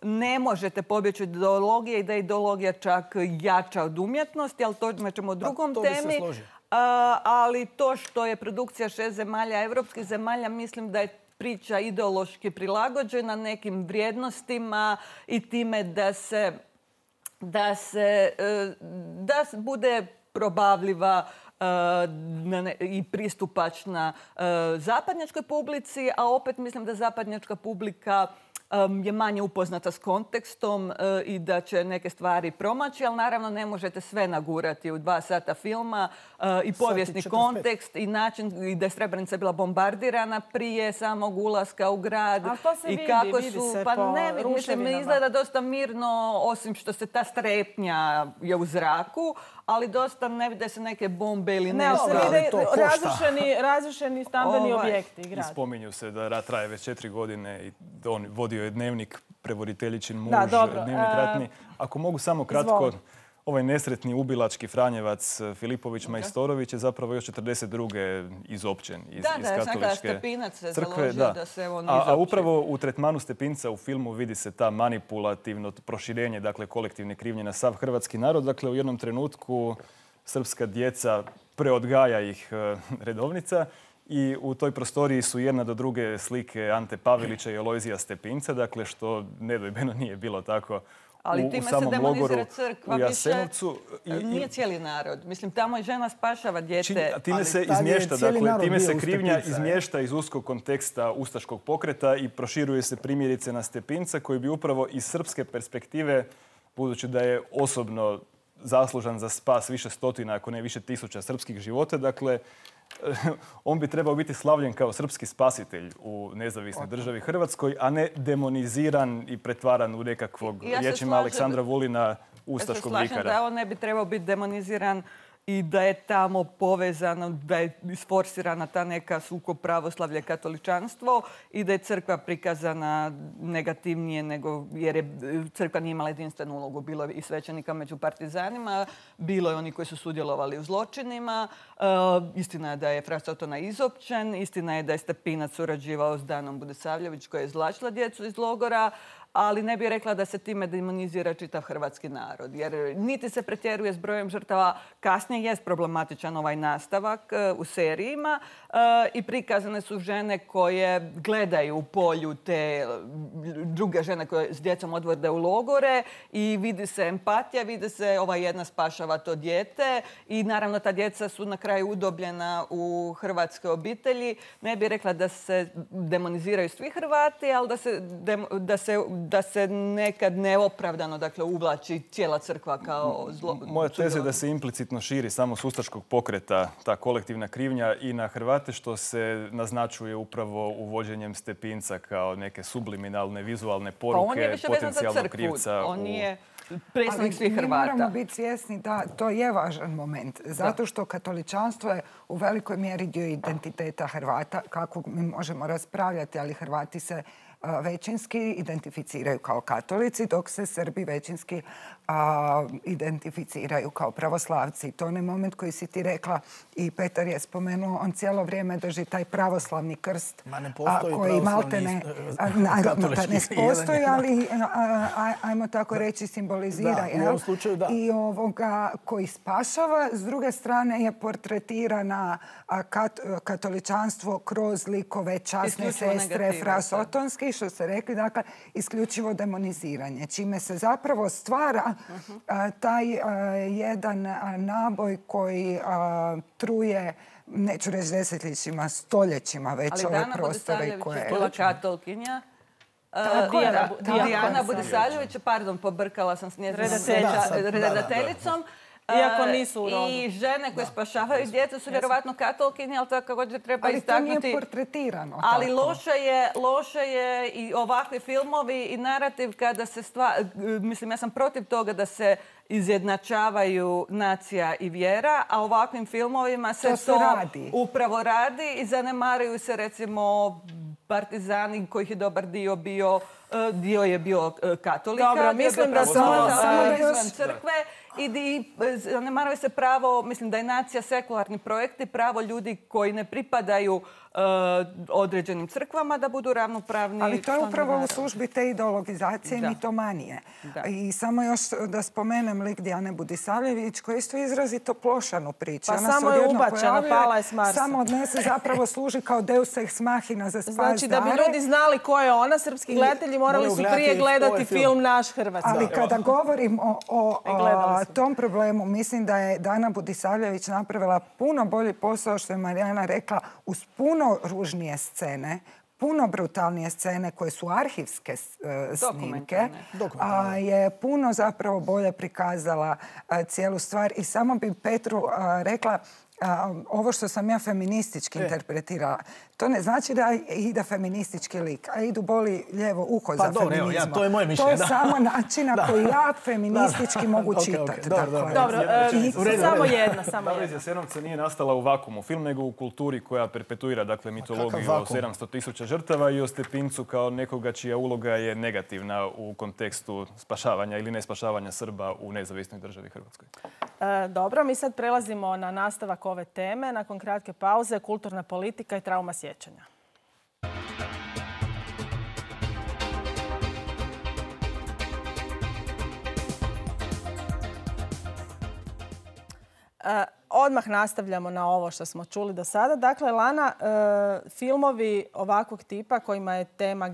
ne možete pobjeći od ideologije i da je ideologija čak jača od umjetnosti, ali to ćemo o drugom to temi. Uh, ali to što je produkcija šest zemalja, evropskih zemalja, mislim da je priča ideološki prilagođena nekim vrijednostima i time da se, da se da bude probavljiva i pristupačna zapadnjačkoj publici, a opet mislim da zapadnjačka publika je manje upoznata s kontekstom i da će neke stvari promaći, ali naravno ne možete sve nagurati u dva sata filma i povijesni kontekst i način i da je Srebrenica bila bombardirana prije samog ulaska u grad. A to se i vidi, kako vidi su, se pa po ne, mislim, izgleda dosta mirno, osim što se ta strepnja je u zraku, ali dosta ne vide se neke bombe ili Ne, ali nešto. se vide to košta. razrušeni, razrušeni stambeni Ovaj. objekti i I grad. spominju se da rat traje već četiri godine i on vodio je dnevnik, prevoditeljičin muž, Da, dobro. dnevnik E, ratni. Ako mogu samo kratko, izvoli. ovaj nesretni ubilački Franjevac Filipović Majstorović je zapravo još četrdeset druge izopćen iz, Da, iz da, ja sam rekla katoličke Stepinac se crkve. založio da se on a, a izopći. upravo u tretmanu Stepinca u filmu vidi se ta manipulativno proširenje, dakle kolektivne krivnje na sav hrvatski narod. Dakle, u jednom trenutku srpska djeca preodgaja ih e, redovnica i u toj prostoriji su jedna do druge slike Ante Pavelića i Alojzija Stepinca, dakle što nedvojbeno nije bilo tako Ali u, u time se samom demonizira logoru crkva u više. Jasenovcu. I- i- Nije cijeli narod. Mislim, tamo je žena spašava dijete. Čini- a time Ali se tad je izmješta, cijeli dakle, narod time bio se u krivnja Stepinca, izmješta iz uskog konteksta ustaškog pokreta i proširuje se primjerice na Stepinca koji bi upravo iz srpske perspektive, budući da je osobno zaslužan za spas više stotina, ako ne više tisuća srpskih života, dakle, on bi trebao biti slavljen kao srpski spasitelj u nezavisnoj državi Hrvatskoj, a ne demoniziran i pretvaran u nekakvog, Ja se riječima slažem- Aleksandra Vulina, Ja se ustaškog slažem vikara. da on ne bi trebao biti demoniziran i da je tamo povezano, da je isforsirana ta neka sukob pravoslavlje katoličanstvo i da je crkva prikazana negativnije nego, jer je crkva nije imala jedinstvenu ulogu. Bilo je i svećenika među partizanima, bilo je oni koji su sudjelovali u zločinima. E, istina je da je Fra Sotona izopćen, istina je da je Stepinac surađivao s Danom Budisavljević koja je izvlačila djecu iz logora, ali ne bih rekla da se time demonizira čitav hrvatski narod. Jer niti se pretjeruje s brojem žrtava, kasnije jest problematičan ovaj nastavak e, u serijima e, i prikazane su žene koje gledaju u polju te e, druge žene koje s djecom odvode u logore i vidi se empatija, vidi se ova jedna spašava to dijete i naravno ta djeca su na kraju udobljena u hrvatske obitelji. Ne bih rekla da se demoniziraju svi Hrvati, ali da se, dem- da se da se nekad neopravdano dakle, uvlači cijela crkva kao zlo. Moja teza je da se implicitno širi samo s ustaškog pokreta ta kolektivna krivnja i na Hrvate, što se naznačuje upravo uvođenjem Stepinca kao neke subliminalne vizualne Pa on je poruke više vezan za potencijalnog crkvu. krivca. On u- nije predstavnik svih mi moramo Hrvata. biti svjesni da to je važan moment. Zato što katoličanstvo je u velikoj mjeri dio identiteta Hrvata, kako mi možemo raspravljati, ali Hrvati se a, većinski identificiraju kao katolici, dok se Srbi većinski a, identificiraju kao pravoslavci. To je onaj moment koji si ti rekla i Petar je spomenuo, on cijelo vrijeme drži taj pravoslavni krst. Ma ne postoji koji pravoslavni, maltene, eh, a, naravno da ne katolički, postoji, jedan ali a, a, ajmo tako reći simbolizira. Da, u jel? ovom slučaju da. I ovoga koji spašava, s druge strane je portretirana a, kat, katoličanstvo kroz likove časne Isključivo sestre negativaca. Fra Sotonski, što se rekli, dakle, isključivo demoniziranje, čime se zapravo stvara a, taj a, jedan a, naboj koji a, truje, neću reći desetljećima, stoljećima već Ali ove Dana prostore Budisavljević koje... je bila katolkinja. Tako je, Dijana, da, tako Dijana je. Budisavljević, pardon, pobrkala sam s njezinom Redateljica. ređa- redateljicom. Iako E, nisu u rodu. I žene koje spašavaju djecu su vjerovatno katolkinje, ali također treba Ali to nije istaknuti. portretirano. Ali tako. loše je, loše je i ovakvi filmovi i narativ kada se stva... Mislim, ja sam protiv toga da se izjednačavaju nacija i vjera, a ovakvim filmovima se To to, se radi. upravo radi i zanemaruju se recimo partizani kojih je dobar dio bio, e, dio je bio e, katolika. Dobro, dio je mislim bio da pravoslavac, samo- samo da izvan još- crkve i di- zanemaruje se pravo, mislim da je nacija sekularni projekti, pravo ljudi koji ne pripadaju e, određenim crkvama da budu ravnopravni. Ali to je članovi upravo u naroda. službi te ideologizacije i Da. mitomanije. Da. I samo još da spomenem lik Dijane Budisavljević koji isto izrazito plošanu priču. Pa Ona se samo je odjednom ubačena, pojavljuje, pala je s Marsa. Samo od nje se zapravo služi kao deus ex machina za spas Znači, da bi Dare. ljudi znali ko je ona, srpski gledatelji morali moraju su gledati prije gledati ovaj film. film Naš Hrvatski. Ali kada govorim o, o, I gledali o smo. tom problemu, mislim da je Dana Budisavljević napravila puno bolji posao, što je Marijana rekla, uz puno ružnije scene, puno brutalnije scene koje su arhivske e, snimke, a je puno zapravo bolje prikazala a, cijelu stvar. I samo bi Petru a, rekla, ovo što sam ja feministički interpretirala, to ne znači da ide feministički lik, a idu boli lijevo uho za feminizmom. To je moje mišljenje. To je samo način na koji ja feministički mogu čitati. Dobro, samo jedna. Davor iz Jasenovca nije nastala u vakuumu film, nego u kulturi koja perpetuira dakle, mitologiju o sedamsto tisuća žrtava i o Stepincu kao nekoga čija uloga je negativna u kontekstu spašavanja ili ne spašavanja Srba u nezavisnoj državi Hrvatskoj. Dobro, mi sad prelazimo na nastavak ove teme. Nakon kratke pauze, kulturna politika i trauma sjećanja. Odmah nastavljamo na ovo što smo čuli do sada. Dakle, Lana, filmovi ovakvog tipa kojima je tema,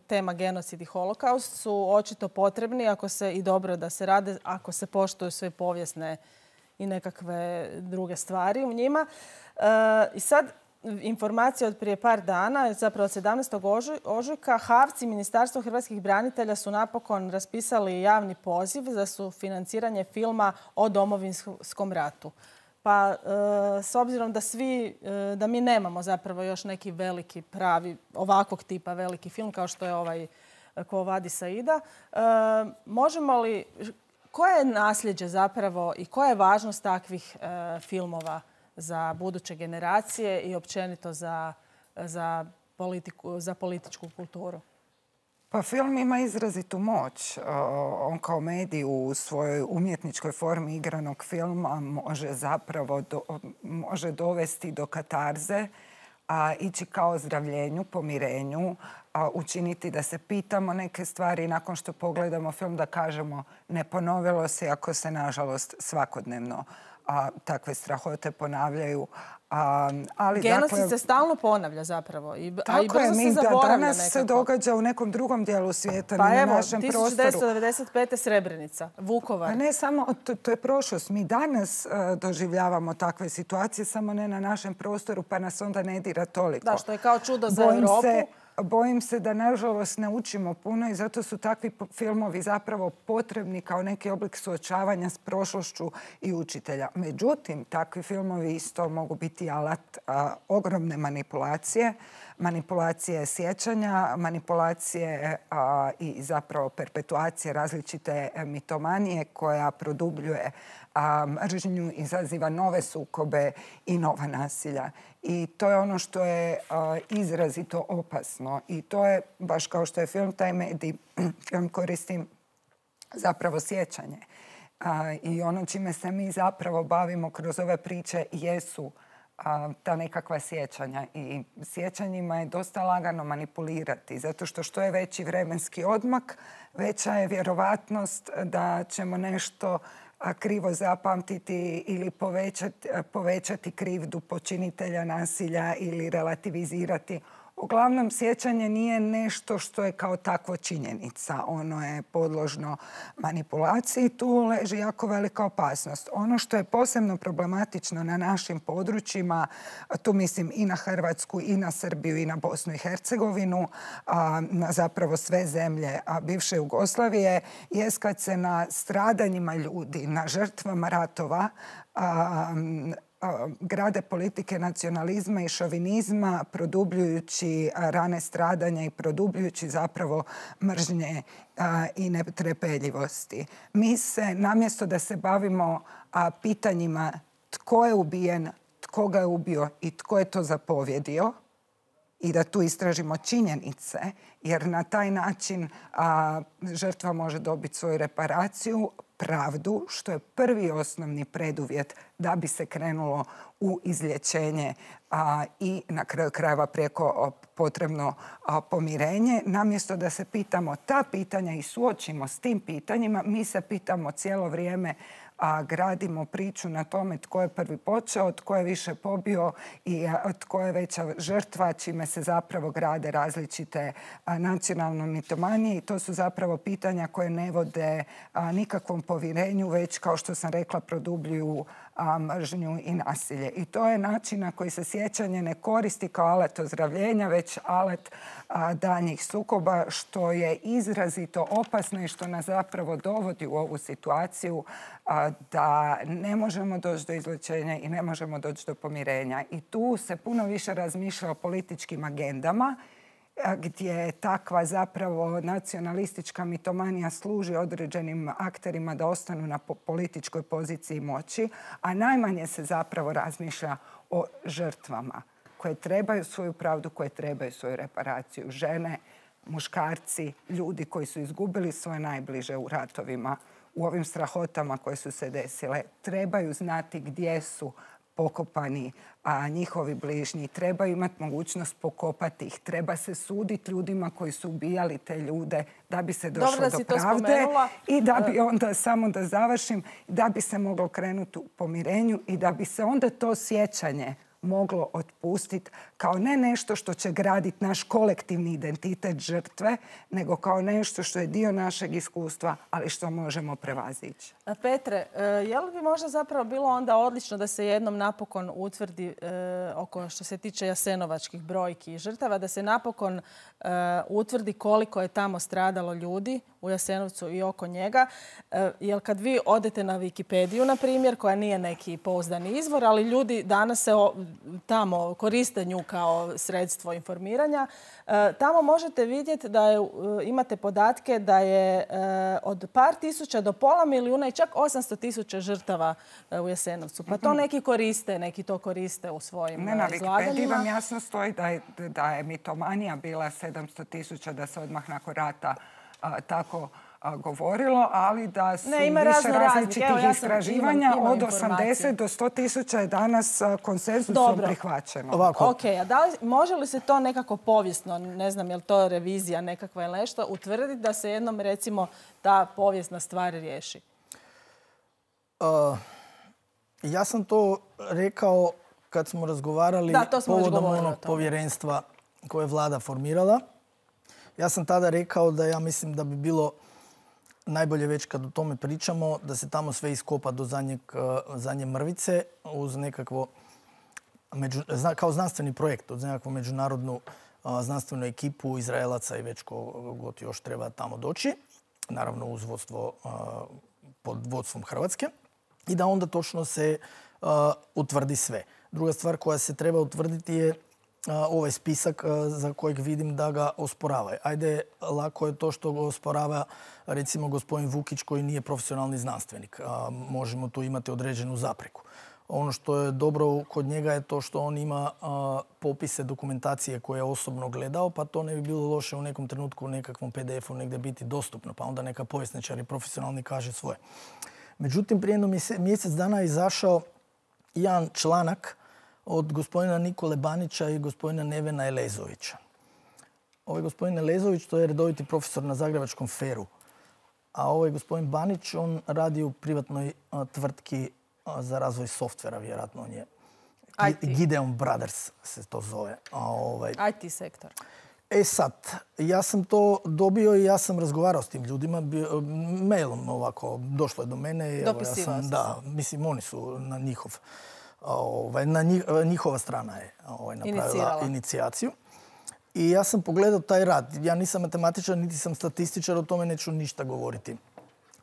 tema genocid i holokaust su očito potrebni ako se i dobro da se rade, ako se poštuju sve povijesne i nekakve druge stvari u njima. I sad informacija od prije par dana, zapravo od sedamnaestog ožujka, HAVC i Ministarstvo hrvatskih branitelja su napokon raspisali javni poziv za sufinanciranje filma o Domovinskom ratu. Pa s obzirom da svi, da mi nemamo zapravo još neki veliki pravi, ovakvog tipa veliki film kao što je ovaj Quo Vadis Aida, možemo li, koje je nasljeđe zapravo i koja je važnost takvih filmova za buduće generacije i općenito za, za, politiku, za političku kulturu? Pa film ima izrazitu moć. On kao medij u svojoj umjetničkoj formi igranog filma može zapravo do, može dovesti do katarze, a ići kao ozdravljenju, pomirenju, a učiniti da se pitamo neke stvari nakon što pogledamo film da kažemo ne ponovilo se, ako se nažalost svakodnevno a, takve strahote ponavljaju. A, ali, genocid dakle, se stalno ponavlja zapravo. I, a i tako brzo je, se mi da zaboravlja danas nekako. se događa u nekom drugom dijelu svijeta, pa na evo, našem prostoru. tisuću devetsto devedeset pete. Srebrenica, Vukovar. A ne samo, to, to je prošlost. Mi danas uh, doživljavamo takve situacije, samo ne na našem prostoru, pa nas onda ne dira toliko. Da, što je kao čudo za Bojim Europu. Se, Bojim se da, nažalost, ne učimo puno i zato su takvi filmovi zapravo potrebni kao neki oblik suočavanja s prošlošću i učitelja. Međutim, takvi filmovi isto mogu biti alat a, ogromne manipulacije, manipulacije sjećanja, manipulacije a, i zapravo perpetuacije različite mitomanije koja produbljuje a, mržnju, izaziva nove sukobe i nova nasilja. I to je ono što je a, izrazito opasno. I to je, baš kao što je film, taj medij, film koristi zapravo sjećanje. A, I ono čime se mi zapravo bavimo kroz ove priče jesu a, ta nekakva sjećanja. I sjećanjima je dosta lagano manipulirati, zato što što je veći vremenski odmak, veća je vjerovatnost da ćemo nešto krivo zapamtiti ili povećati, povećati krivdu počinitelja nasilja ili relativizirati. Uglavnom, sjećanje nije nešto što je kao takvo činjenica. Ono je podložno manipulaciji. Tu leži jako velika opasnost. Ono što je posebno problematično na našim područjima, tu mislim i na Hrvatsku, i na Srbiju, i na Bosnu i Hercegovinu, na zapravo sve zemlje bivše Jugoslavije, jest kad se na stradanjima ljudi, na žrtvama ratova, grade politike nacionalizma i šovinizma, produbljujući rane stradanja i produbljujući zapravo mržnje i netrpeljivosti. Mi se, namjesto da se bavimo pitanjima tko je ubijen, tko ga je ubio i tko je to zapovjedio, i da tu istražimo činjenice, jer na taj način a, žrtva može dobiti svoju reparaciju, pravdu, što je prvi osnovni preduvjet da bi se krenulo u izlječenje a, i na kraju krajeva prijeko potrebno a, pomirenje. Namjesto da se pitamo ta pitanja i suočimo s tim pitanjima, mi se pitamo cijelo vrijeme, a gradimo priču na tome tko je prvi počeo, tko je više pobio i tko je veća žrtva, čime se zapravo grade različite nacionalne mitomanije. I to su zapravo pitanja koje ne vode nikakvom povjerenju, već, kao što sam rekla, produbljuju a, mržnju i nasilje. I to je način na koji se sjećanje ne koristi kao alat ozdravljenja, već alat a, daljnjih sukoba, što je izrazito opasno i što nas zapravo dovodi u ovu situaciju a, da ne možemo doći do izlječenja i ne možemo doći do pomirenja. I tu se puno više razmišlja o političkim agendama, gdje takva zapravo nacionalistička mitomanija služi određenim akterima da ostanu na političkoj poziciji moći, a najmanje se zapravo razmišlja o žrtvama koje trebaju svoju pravdu, koje trebaju svoju reparaciju. Žene, muškarci, ljudi koji su izgubili svoje najbliže u ratovima, u ovim strahotama koje su se desile, trebaju znati gdje su pokopani a njihovi bližnji. Treba imati mogućnost pokopati ih. Treba se suditi ljudima koji su ubijali te ljude da bi se došlo Dobro, da do si to pravde spomenula. i da bi onda, samo da završim, da bi se moglo krenuti u pomirenju i da bi se onda to sjećanje moglo otpustiti kao ne nešto što će graditi naš kolektivni identitet žrtve, nego kao nešto što je dio našeg iskustva, ali što možemo prevazići. Petre, je li bi možda zapravo bilo onda odlično da se jednom napokon utvrdi e, oko što se tiče jasenovačkih brojki i žrtava, da se napokon e, utvrdi koliko je tamo stradalo ljudi u Jasenovcu i oko njega. E, jer kad vi odete na Wikipediju, na primjer, koja nije neki pouzdani izvor, ali ljudi danas se o, tamo koriste nju kao sredstvo informiranja, e, tamo možete vidjeti da je, e, imate podatke da je e, od par tisuća do pola milijuna i čak osamsto tisuća žrtava e, u Jasenovcu. Pa to neki koriste, neki to koriste u svojim ne, na izlaganjima. Wikipediji vam jasno stoji da je, da je mitomanija bila sedamsto tisuća, da se odmah nakon rata a, tako a, govorilo, ali da su ne, ima više razno različitih Evo, ja sam, istraživanja. imam, imam od osamdeset do sto tisuća je danas konsenzusom prihvaćeno. Ovako. Ok, a da li, može li se to nekako povijesno, ne znam je li to revizija nekakva ili nešto, utvrditi da se jednom recimo ta povijesna stvar riješi? Uh, ja sam to rekao kad smo razgovarali da, smo povodom onog povjerenstva koje je vlada formirala. Ja sam tada rekao da ja mislim da bi bilo najbolje već kad o tome pričamo, da se tamo sve iskopa do zadnjeg, zadnje mrvice uz nekakvo, među, kao znanstveni projekt, uz nekakvu međunarodnu a, znanstvenu ekipu Izraelaca i već kogod još treba tamo doći. Naravno uz vodstvo, a, pod vodstvom Hrvatske. I da onda točno se uh, utvrdi sve. Druga stvar koja se treba utvrditi je uh, ovaj spisak uh, za kojeg vidim da ga osporavaju. Ajde, lako je to što ga osporava recimo gospodin Vukić koji nije profesionalni znanstvenik. Uh, možemo tu imati određenu zapreku. Ono što je dobro kod njega je to što on ima uh, popise dokumentacije koje je osobno gledao, pa to ne bi bilo loše u nekom trenutku u nekakvom pe de efu negdje biti dostupno, pa onda neka povjesničar i profesionalni kaže svoje. Međutim, prije jedno mjesec dana je izašao jedan članak od gospodina Nikole Banića i gospodina Nevena Elezovića. Ovaj gospodin Elezović, to je redoviti profesor na Zagrebačkom feru. A ovaj gospodin Banić, on radi u privatnoj a, tvrtki a, za razvoj softvera, vjerojatno on je. I T. Gideon Brothers se to zove. A, ovaj... I T sektor. E sad, ja sam to dobio i ja sam razgovarao s tim ljudima, mailom ovako, došlo je do mene. I dopisivao ja sam, da, mislim, oni su na njihov, ovaj, na njih, njihova strana je ovaj, napravila Inicirala. inicijaciju. I ja sam pogledao taj rad. Ja nisam matematičar, niti sam statističar, o tome neću ništa govoriti.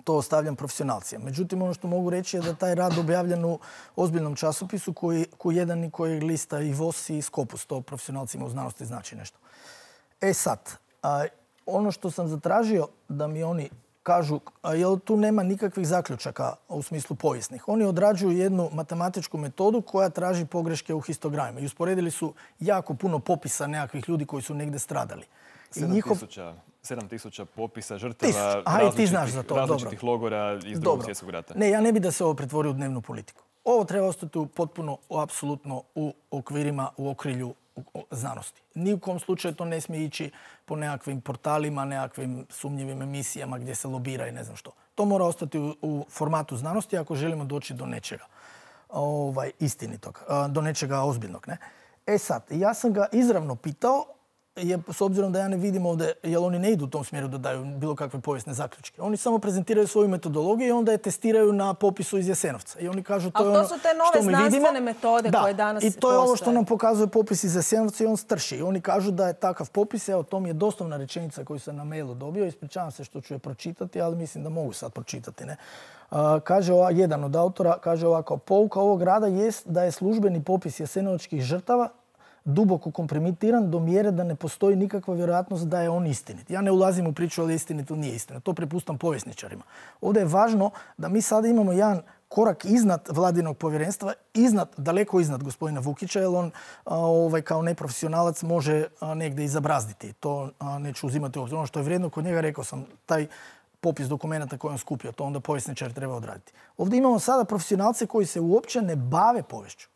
To ostavljam profesionalcijama. Međutim, ono što mogu reći je da taj rad objavljen u ozbiljnom časopisu koji, koji jedan i koji lista i V O S i Scopus. To profesionalcima u znanosti znači nešto. E sad, a, ono što sam zatražio da mi oni kažu, a, jel tu nema nikakvih zaključaka u smislu povijesnih. Oni odrađuju jednu matematičku metodu koja traži pogreške u histogramima. I usporedili su jako puno popisa nekakvih ljudi koji su negdje stradali. sedam tisuća popisa žrtava različitih, različitih logora iz drugog svjetskog rata. Ne, ja ne bi da se ovo pretvori u dnevnu politiku. Ovo treba ostati potpuno, apsolutno u okvirima, u okrilju znanosti. Ni u kom slučaju to ne smije ići po nekakvim portalima, nekakvim sumnjivim emisijama gdje se lobira i ne znam što. To mora ostati u, u formatu znanosti ako želimo doći do nečega ovaj, istinitog, do nečega ozbiljnog. Ne? E sad, ja sam ga izravno pitao je, s obzirom da ja ne vidim ovdje, jer oni ne idu u tom smjeru da daju bilo kakve povijesne zaključke. Oni samo prezentiraju svoju metodologiju i onda je testiraju na popisu iz Jasenovca. I oni kažu to je ono što mi vidimo. Ali to su te nove znanstvene metode koje danas postoje. I to je ovo što nam pokazuje popis iz Jasenovca i on strši. I oni kažu da je takav popis, evo to mi je doslovna rečenica koju sam na mailu dobio. Ispričavam se što ću je pročitati, ali mislim da mogu sad pročitati. Ne? Uh, kaže ova, jedan od autora, kaže ovako, pouka ovog rada jest da je službeni popis jasenovačkih žrtava duboko kompromitiran do mjere da ne postoji nikakva vjerojatnost da je on istinit. Ja ne ulazim u priču ali je istinit ili nije istinit. To prepustam povjesničarima. Ovdje je važno da mi sada imamo jedan korak iznad vladinog povjerenstva, iznad, daleko iznad gospodina Vukića, jer on a, ovaj, kao neprofesionalac može a, negdje i zabrazditi. To a, neću uzimati u obzir. Ono što je vrijedno kod njega, rekao sam, taj popis dokumenta koji on skupio, to onda povjesničar treba odraditi. Ovdje imamo sada profesionalce koji se uopće ne bave povješću.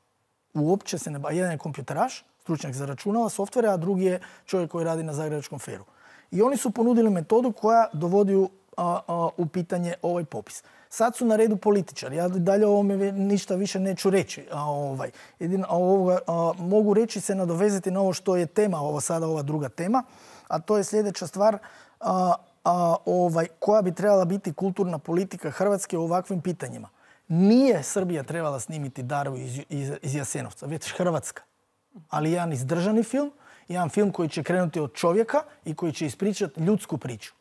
Uopće se ne bave. Jedan je kompjuteraš, stručnjak za računala, softvere, a drugi je čovjek koji radi na Zagrebačkom feru. I oni su ponudili metodu koja dovodi u, a, a, u pitanje ovaj popis. Sad su na redu političari. Ja dalje o ovome ništa više neću reći. A, ovaj, jedino, a, ovoga, a, mogu reći se nadovezati na ovo što je tema, ovo sada ova druga tema, a to je sljedeća stvar a, a, ovaj, koja bi trebala biti kulturna politika Hrvatske u ovakvim pitanjima. Nije Srbija trebala snimiti Daru iz, iz, iz Jasenovca, već Hrvatska. Ali jedan izdržani film, jedan film koji će krenuti od čovjeka i koji će ispričati ljudsku priču.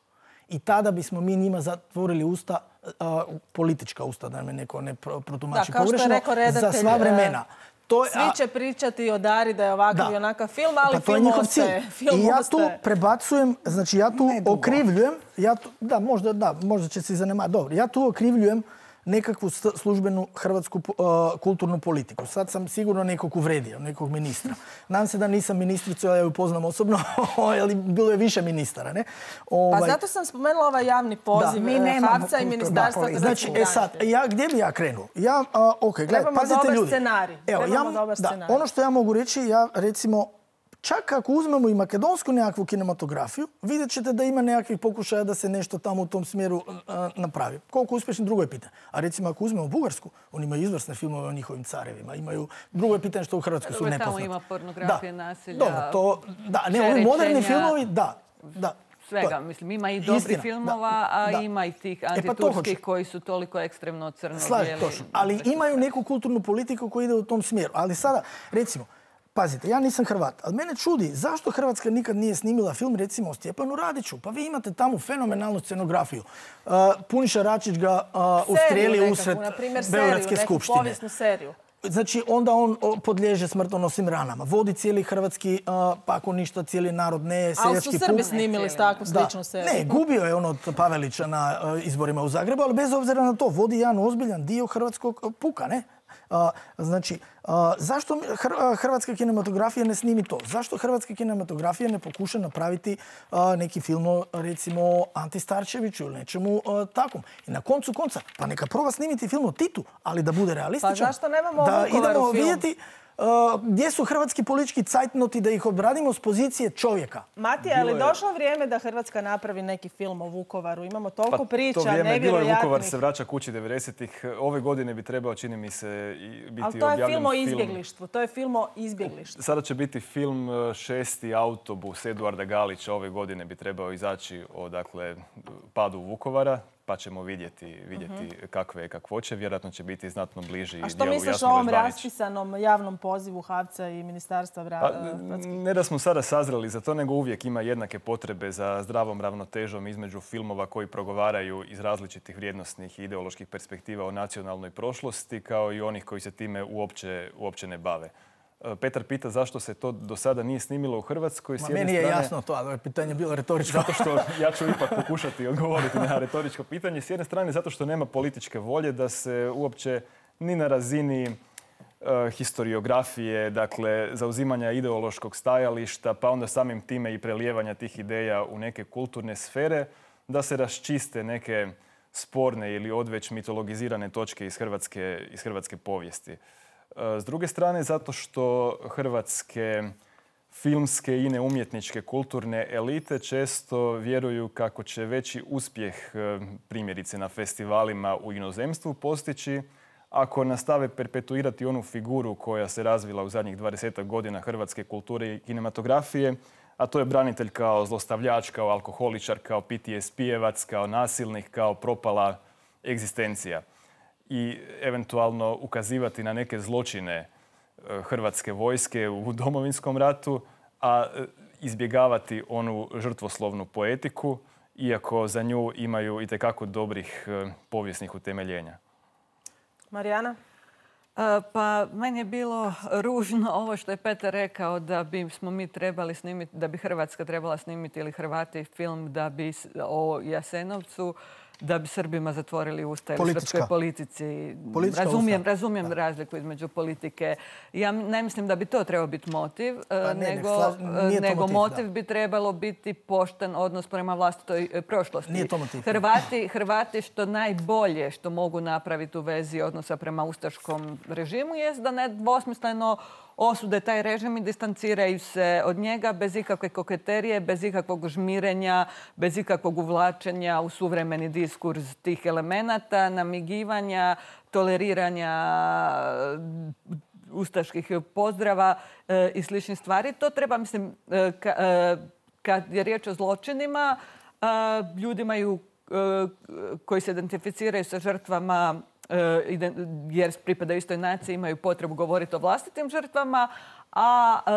I tada bismo mi njima zatvorili usta, a, politička usta, da me neko ne protumači pogrešno, za sva vremena. To je, svi će pričati o Dari da je ovakav da. i onakav film, ali pa film ostaje. Film I ja ostaje. tu prebacujem, znači ja tu okrivljujem, ja tu, da, možda, da, možda će se zanemariti, dobro, ja tu okrivljujem nekakvu službenu hrvatsku uh, kulturnu politiku. Sad sam sigurno nekog uvredio, nekog ministra. Nadam se da nisam ministricu, ja ju poznam osobno, ali bilo je više ministara. Ne? Ovaj... Pa zato sam spomenula ovaj javni poziv Havca i Ministarstva hrvatskih Znači, e sad, ja, gdje bi ja krenuo? Ja, uh, okay, gledaj, Trebamo pazite dobar ljudi. scenarij. Evo, Trebamo ja, dobar da, scenarij. ono što ja mogu reći, ja recimo, čak ako uzmemo i makedonsku nekakvu kinematografiju, vidjet ćete da ima nekakvih pokušaja da se nešto tamo u tom smjeru uh, napravi. Koliko uspješno, drugo je pitanje. A recimo ako uzmemo Bugarsku, oni imaju izvrsne filmove o njihovim carevima. Imaju, drugo je pitanje što u Hrvatskoj su nepoznati. Tamo ima pornografije, da. nasilja, Dobro, to, da, ne, ovi moderni filmovi, da. da. Svega, mislim, ima i dobri Istina, filmova, a da. ima i tih E, pa antiturskih koji su toliko ekstremno crno Slažem, točno. Ali imaju neku kulturnu politiku koja ide u tom smjeru. Ali sada, recimo, pazite, ja nisam Hrvat, ali mene čudi zašto Hrvatska nikad nije snimila film recimo o Stjepanu Radiću. Pa vi imate tamo fenomenalnu scenografiju. Uh, Puniša Račić ga uh, ustrelio usred Beogradske skupštine. Povijesnu seriju. Znači, onda on podliježe smrtonosnim ranama. Vodi cijeli hrvatski, uh, pa ako ništa, cijeli narod, ne seljački puk. Ali su Srbi snimili s takvu sličnu seriju. Ne, gubio je on od Pavelića na uh, izborima u Zagrebu, ali bez obzira na to vodi jedan ozbiljan dio hrvatskog puka, ne? Uh, znači, uh, zašto hr- hrvatska kinematografija ne snimi to? Zašto hrvatska kinematografija ne pokuša napraviti uh, neki film o, recimo, Anti Starčeviću ili nečemu uh, takvom? I na koncu konca, pa neka proba snimiti film o Titu, ali da bude realističan. Pa zašto nemamo da Vukovaru idemo film? vidjeti Uh, gdje su hrvatski politički cajtnoti da ih obradimo s pozicije čovjeka. Matija, je li došlo vrijeme da Hrvatska napravi neki film o Vukovaru? Imamo toliko pa, priča, to vrijeme, nevjerojatnih. Bilo je Vukovar se vraća kući devedesetih. Ove godine bi trebao, čini mi se, biti objavljen film. Ali to je film o izbjeglištvu. To je film o izbjeglištvu. Sada će biti film Šesti autobus Eduarda Galića. Ove godine bi trebao izaći o dakle, padu Vukovara. Pa ćemo vidjeti, vidjeti uh-huh. kakve je kakvoće. Vjerojatno će biti znatno bliži dijelu Jasmile Žbanić. A što misliš o ovom raspisanom javnom pozivu Havca i Ministarstva vra... pa, ne da smo sada sazreli za to, nego uvijek ima jednake potrebe za zdravom ravnotežom između filmova koji progovaraju iz različitih vrijednosnih i ideoloških perspektiva o nacionalnoj prošlosti, kao i onih koji se time uopće, uopće ne bave. Petar pita zašto se to do sada nije snimilo u Hrvatskoj. Ma, meni je strane, jasno to, ali pitanje je bilo retoričko. Zato što ja ću ipak pokušati odgovoriti na retoričko pitanje. S jedne strane zato što nema političke volje da se uopće ni na razini uh, historiografije, dakle zauzimanja ideološkog stajališta, pa onda samim time i prelijevanja tih ideja u neke kulturne sfere, da se raščiste neke sporne ili odveć mitologizirane točke iz hrvatske, iz hrvatske povijesti. S druge strane, zato što hrvatske filmske i neumjetničke kulturne elite često vjeruju kako će veći uspjeh primjerice na festivalima u inozemstvu postići ako nastave perpetuirati onu figuru koja se razvila u zadnjih dvadesetak godina hrvatske kulture i kinematografije, a to je branitelj kao zlostavljač, kao alkoholičar, kao P T S P-evac, kao nasilnik, kao propala egzistencija. I eventualno ukazivati na neke zločine hrvatske vojske u Domovinskom ratu, a izbjegavati onu žrtvoslovnu poetiku, iako za nju imaju itekako dobrih povijesnih utemeljenja. Marijana? Pa meni je bilo ružno ovo što je Petar rekao da bi smo mi trebali snimiti, da bi Hrvatska trebala snimiti ili Hrvati film da bi o Jasenovcu, da bi Srbima zatvorili usta ili srpskoj politici. Razumijem, razumijem razliku između politike. Ja ne mislim da bi to trebao biti motiv, Pa ne, nego, ne, nije to nego motiv, motiv da. bi trebalo biti pošten odnos prema vlastitoj e, prošlosti. Nije to motiv. Hrvati, Hrvati što najbolje što mogu napraviti u vezi odnosa prema ustaškom režimu jest da nedvosmisleno osude taj režim i distanciraju se od njega bez ikakve koketerije, bez ikakvog žmirenja, bez ikakvog uvlačenja u suvremeni diskurs tih elemenata, namigivanja, toleriranja ustaških pozdrava e, i sličnih stvari. To treba, mislim, e, ka, e, kad je riječ o zločinima, e, ljudi imaju, e, koji se identificiraju sa žrtvama jer pripadaju istoj naciji, imaju potrebu govoriti o vlastitim žrtvama, a e,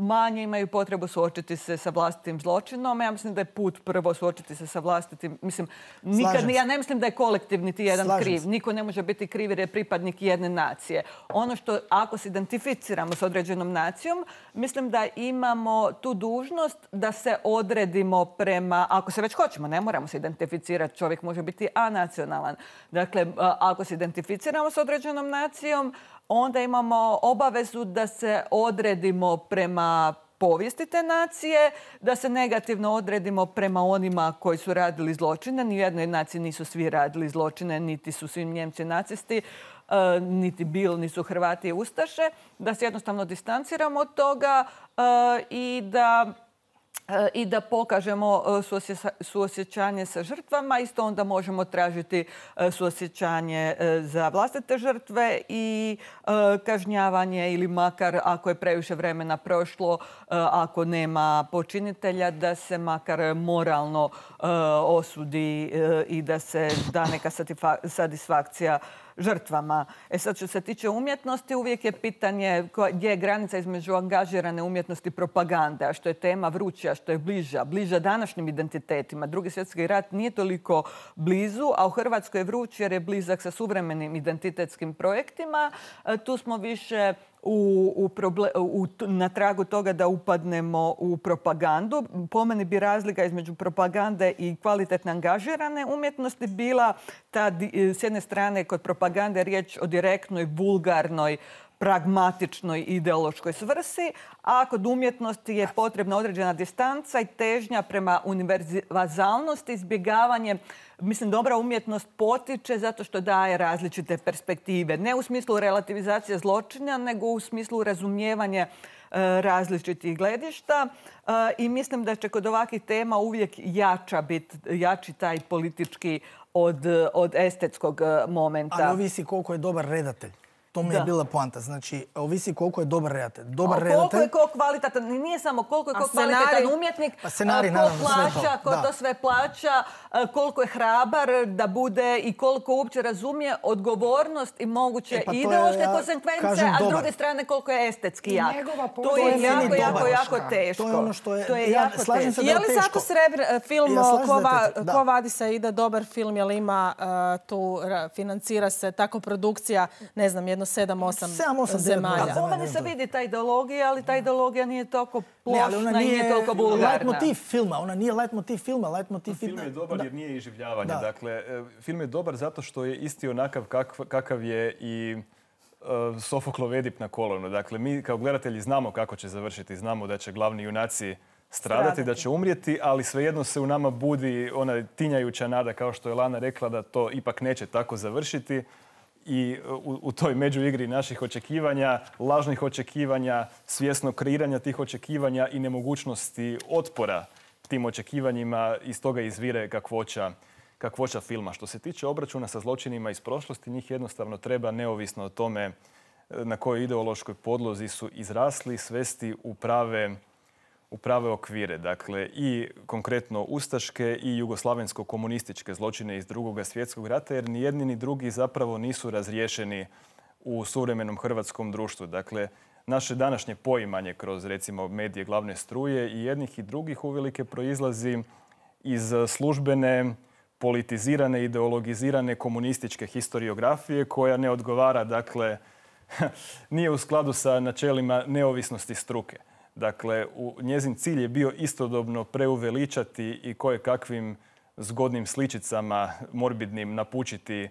manje imaju potrebu suočiti se sa vlastitim zločinom. Ja mislim da je put prvo suočiti se sa vlastitim... Mislim, nikad, ja ne mislim da je kolektiv niti jedan Slažem kriv. se. Niko ne može biti kriv jer je pripadnik jedne nacije. Ono što, ako se identificiramo s određenom nacijom, mislim da imamo tu dužnost da se odredimo prema... Ako se već hoćemo, ne moramo se identificirati. Čovjek može biti anacionalan. Dakle, ako se identificiramo s određenom nacijom, onda imamo obavezu da se odredimo prema povijesti te nacije, da se negativno odredimo prema onima koji su radili zločine. Ni u jednoj naciji nisu svi radili zločine, niti su svi Njemci nacisti, niti bili, nisu Hrvati i Ustaše. Da se jednostavno distanciramo od toga i da... i da pokažemo suosjećanje sa žrtvama. Isto onda možemo tražiti suosjećanje za vlastite žrtve i kažnjavanje ili makar ako je previše vremena prošlo, ako nema počinitelja, da se makar moralno osudi i da se da neka satisfakcija žrtvama. E sad, što se tiče umjetnosti, uvijek je pitanje gdje je granica između angažirane umjetnosti i propagande, a što je tema vruća, što je bliža, bliža današnjim identitetima. Drugi svjetski rat nije toliko blizu, a u Hrvatskoj je vruć jer je blizak sa suvremenim identitetskim projektima. Tu smo više U, u proble, u, na tragu toga da upadnemo u propagandu. Po meni bi razlika između propagande i kvalitetne angažirane umjetnosti bila ta, s jedne strane, kod propagande riječ o direktnoj, vulgarnoj, pragmatičnoj ideološkoj svrsi, a kod umjetnosti je potrebna određena distanca i težnja prema univerzalnosti, izbjegavanje. Mislim, dobra umjetnost potiče zato što daje različite perspektive. Ne u smislu relativizacije zločina, nego u smislu razumijevanja e, različitih gledišta. E, I mislim da će kod ovakvih tema uvijek jača biti, jači taj politički od, od estetskog momenta. Ali ovisi koliko je dobar redatelj. To mi je Da. bila poanta. Znači, ovisi koliko je dobar redatelj. Dobar A koliko redatelj... je ko kvalitetan, nije samo koliko je A ko scenarij? kvalitetan umjetnik, A scenarij, ko naravno, sve to, plaća, ko da. to sve plaća, a, koliko je hrabar da bude i koliko uopće razumije odgovornost i moguće E, pa to je, ideološke ja konsekvence, kažem, a s dobar. druge strane koliko je estetski I jak. njegova To pozicija je je jako, meni jako, dobar. jako teško. To je ono što je- To je ja jako slažem se teško. da Je li teško. Zlatko Srebr, film Ja slažem Ko, se da je va, teško, da. Ko vadi se ide, dobar film, je li ima uh, tu, ra- financira se tako produkcija, ne znam, jedno sedam, osam Sedam, osam, devet zemalja. možda. Po meni se vidi ta ideologija, ali ta ideologija nije toliko Ne, ali plošna ona i nije nije toliko vulgarna. leitmotiv filma. Ona nije leitmotiv filma. Leitmotiv Film je dobar Da. jer nije iživljavanje. Da. Dakle, e, film je dobar zato što je isti onakav kakv- kakav je i e, Sofoklov Edip na kolonu. Dakle, mi kao gledatelji znamo kako će završiti. Znamo da će glavni junaci stradati, Stradati. da će umrijeti, ali svejedno se u nama budi ona tinjajuća nada, kao što je Lana rekla, da to ipak neće tako završiti. I u, u toj međuigri naših očekivanja, lažnih očekivanja, svjesnog kreiranja tih očekivanja i nemogućnosti otpora tim očekivanjima, iz toga izvire kakvoća, kakvoća filma. Što se tiče obračuna sa zločinima iz prošlosti, njih jednostavno treba, neovisno o tome na kojoj ideološkoj podlozi su izrasli, svesti u prave, u prave okvire. Dakle, i konkretno ustaške i jugoslavensko-komunističke zločine iz Drugog svjetskog rata, jer ni jedni ni drugi zapravo nisu razriješeni u suvremenom hrvatskom društvu. Dakle, naše današnje poimanje kroz, recimo, medije glavne struje i jednih i drugih uvelike proizlazi iz službene, politizirane, ideologizirane komunističke historiografije koja ne odgovara, dakle, nije u skladu sa načelima neovisnosti struke. Dakle, u, njezin cilj je bio istodobno preuveličati i koje kakvim zgodnim sličicama morbidnim napučiti,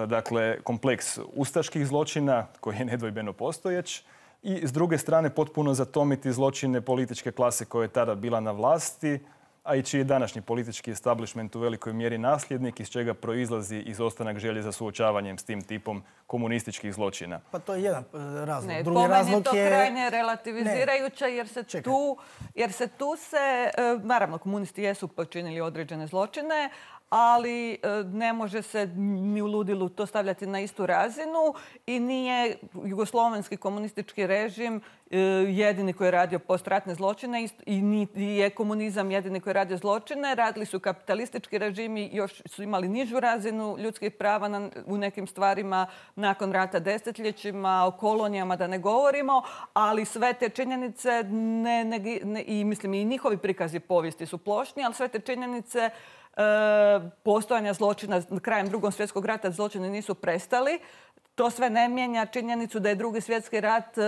dakle, kompleks ustaških zločina koji je nedvojbeno postojeć i s druge strane potpuno zatomiti zločine političke klase koja je tada bila na vlasti, a i čiji je današnji politički establishment u velikoj mjeri nasljednik, iz čega proizlazi izostanak želje za suočavanjem s tim tipom komunističkih zločina. Pa to je jedan razlog. Ne, Drugi po meni razlog je to je... krajnje relativizirajuće jer se, Čekaj. tu, jer se tu se, e, naravno komunisti jesu počinili određene zločine, ali e, ne može se ni u ludilu to stavljati na istu razinu i nije jugoslovenski komunistički režim e, jedini koji je radio postratne zločine i niti je komunizam jedini koji je radio zločine. Radili su kapitalistički režimi, još su imali nižu razinu ljudskih prava na, u nekim stvarima nakon rata desetljećima, o kolonijama da ne govorimo, ali sve te činjenice ne, ne, ne, i mislim i njihovi prikazi povijesti su plošni, ali sve te činjenice E, postojanja zločina krajem Drugog svjetskog rata zločini nisu prestali. To sve ne mijenja činjenicu da je Drugi svjetski rat e,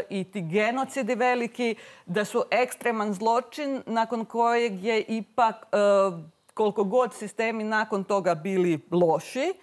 i ti genocidi veliki, da su ekstreman zločin nakon kojeg je ipak e, koliko god sistemi nakon toga bili loši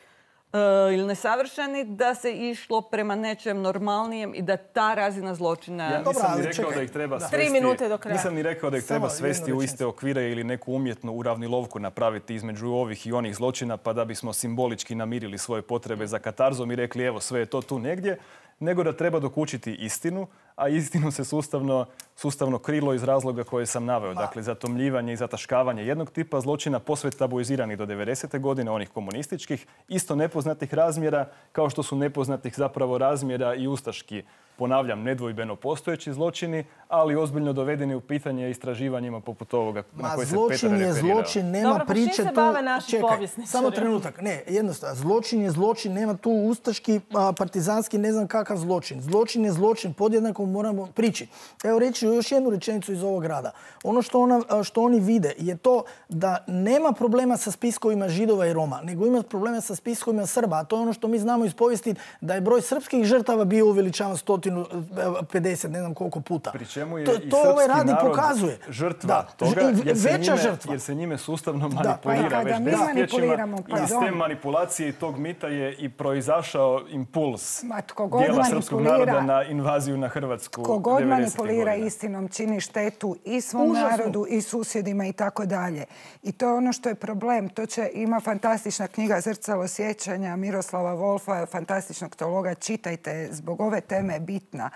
e, ili nesavršeni, da se išlo prema nečem normalnijem i da ta razina zločina... Ja nisam ni rekao da ih treba svesti... Tri minute do kraja. Nisam ni rekao da ih treba svesti u iste okvire ili neku umjetnu uravnilovku napraviti između ovih i onih zločina, pa da bismo simbolički namirili svoje potrebe za katarzom i rekli evo sve je to tu negdje, nego da treba dokučiti istinu, a istinu se sustavno, sustavno krilo iz razloga koje sam naveo. Dakle, zatomljivanje i zataškavanje jednog tipa zločina posve tabuiziranih do devedesete godine, onih komunističkih, isto nepoznatih razmjera, kao što su nepoznatih zapravo razmjera i ustaški, ponavljam, nedvojbeno postojeći zločini, ali ozbiljno dovedeni u pitanje istraživanjima poput ovoga na koje se Petar referirao. Zločin je zločin, nema Dobro, pa priče čim se tu... bave naši Čekaj, povjesničari? samo trenutak. Ne, jednostavno. Zločin je zločin, nema tu ustaški, a, partizanski, ne znam kakav zločin. Zločin je zločin, podjednako moramo prići. Evo reći još jednu rečenicu iz ovog rada. Ono što, ona, što oni vide je to da nema problema sa spiskovima Židova i Roma, nego ima problema sa spiskovima Srba. A to je ono što mi znamo iz povijesti, da je broj srpskih žrtava bio uveličavan sto pedeset, ne znam koliko puta. Pri čemu je to, i to ovaj srpski radi narod pokazuje. Žrtva Da, toga, jer se, veća njime, žrtva. jer se njime sustavno Da, manipulira pa već mi desetljećima. manipuliramo, I iz pardon. te manipulacije i tog mita je i proizašao impuls Ma, tko god dijela srpskog manipulira- naroda na invaziju na Hrvatsku Ko god devedesetih manipulira godina. istinom čini štetu i svom Užasno. narodu i susjedima i tako dalje. I to je ono što je problem. To će, ima fantastična knjiga Zrcalo sjećanja Miroslava Wolfa, fantastičnog teologa. Čitajte, zbog ove teme je bitna.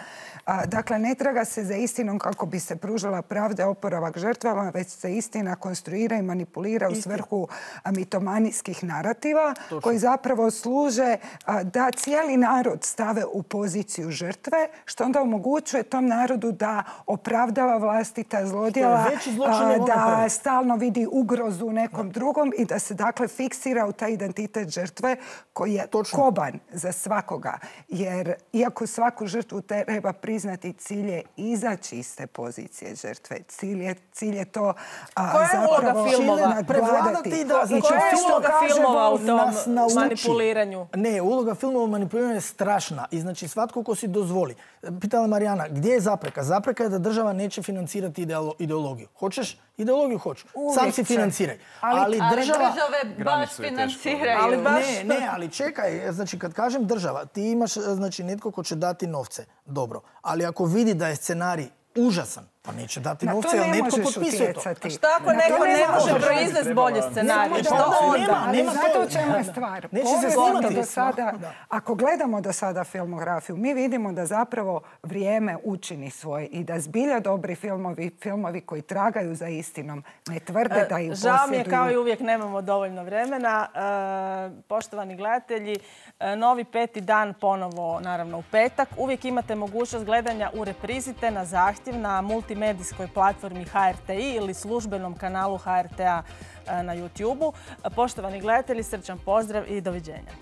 A, dakle, ne traga se za istinom kako bi se pružila pravda, oporavak žrtvama, već se istina konstruira i manipulira u svrhu a, mitomanijskih narativa koji zapravo služe a, da cijeli narod stave u poziciju žrtve, što onda omogućuje tom narodu da opravdava vlastita zlodjela, veći zločin a, nego onaj da prvi. stalno vidi ugrozu u nekom drugom i da se dakle fiksira u taj identitet žrtve koji je Točno. koban za svakoga. Jer iako svaku žrtvu treba priznati, cilj je izaći iz te pozicije žrtve. Cilj je, cilj je to a, Koja je zapravo uloga filmova? Prevladati da... I Znači, Koja je film uloga kaže filmova u da tom nas nauči. manipuliranju? Ne, uloga filmova u manipuliranju je strašna. I znači svatko ko si dozvoli. Pitala Marijana, gdje je zapreka? Zapreka je da država neće financirati ideolo- ideologiju. Hoćeš? Ideologiju hoću. Uvijek Sam si će. financiraj. Ali- Ali, Ali država... države baš Granicu je teško. financiraju. Ali baš- Ne, ne, ali čekaj, znači kad kažem država, ti imaš znači netko ko će dati novce, dobro, ali ako vidi da je scenarij užasan, pa neće dati Na to novce, ne ali netko možeš potpisuje to. utjecati. Šta ako Na to neko ne može možeš. proizvesti bolje scenarije? Ne, Što nema, onda? nema. Ali znate u čemu je stvar? Neće se Povijesno snimati. do sada, Da. ako gledamo do sada filmografiju, mi vidimo da zapravo vrijeme učini svoje i da zbilja dobri filmovi, filmovi koji tragaju za istinom, ne tvrde da ih posjeduju. Žao mi je, kao i uvijek nemamo dovoljno vremena. E, poštovani gledatelji, e, novi peti dan ponovo, naravno u petak. Uvijek imate mogućnost gledanja u reprizite na zahtjev na multi multimedijskoj platformi H R T I ili službenom kanalu H R T A na YouTubeu. Poštovani gledatelji, srčan pozdrav i doviđenja.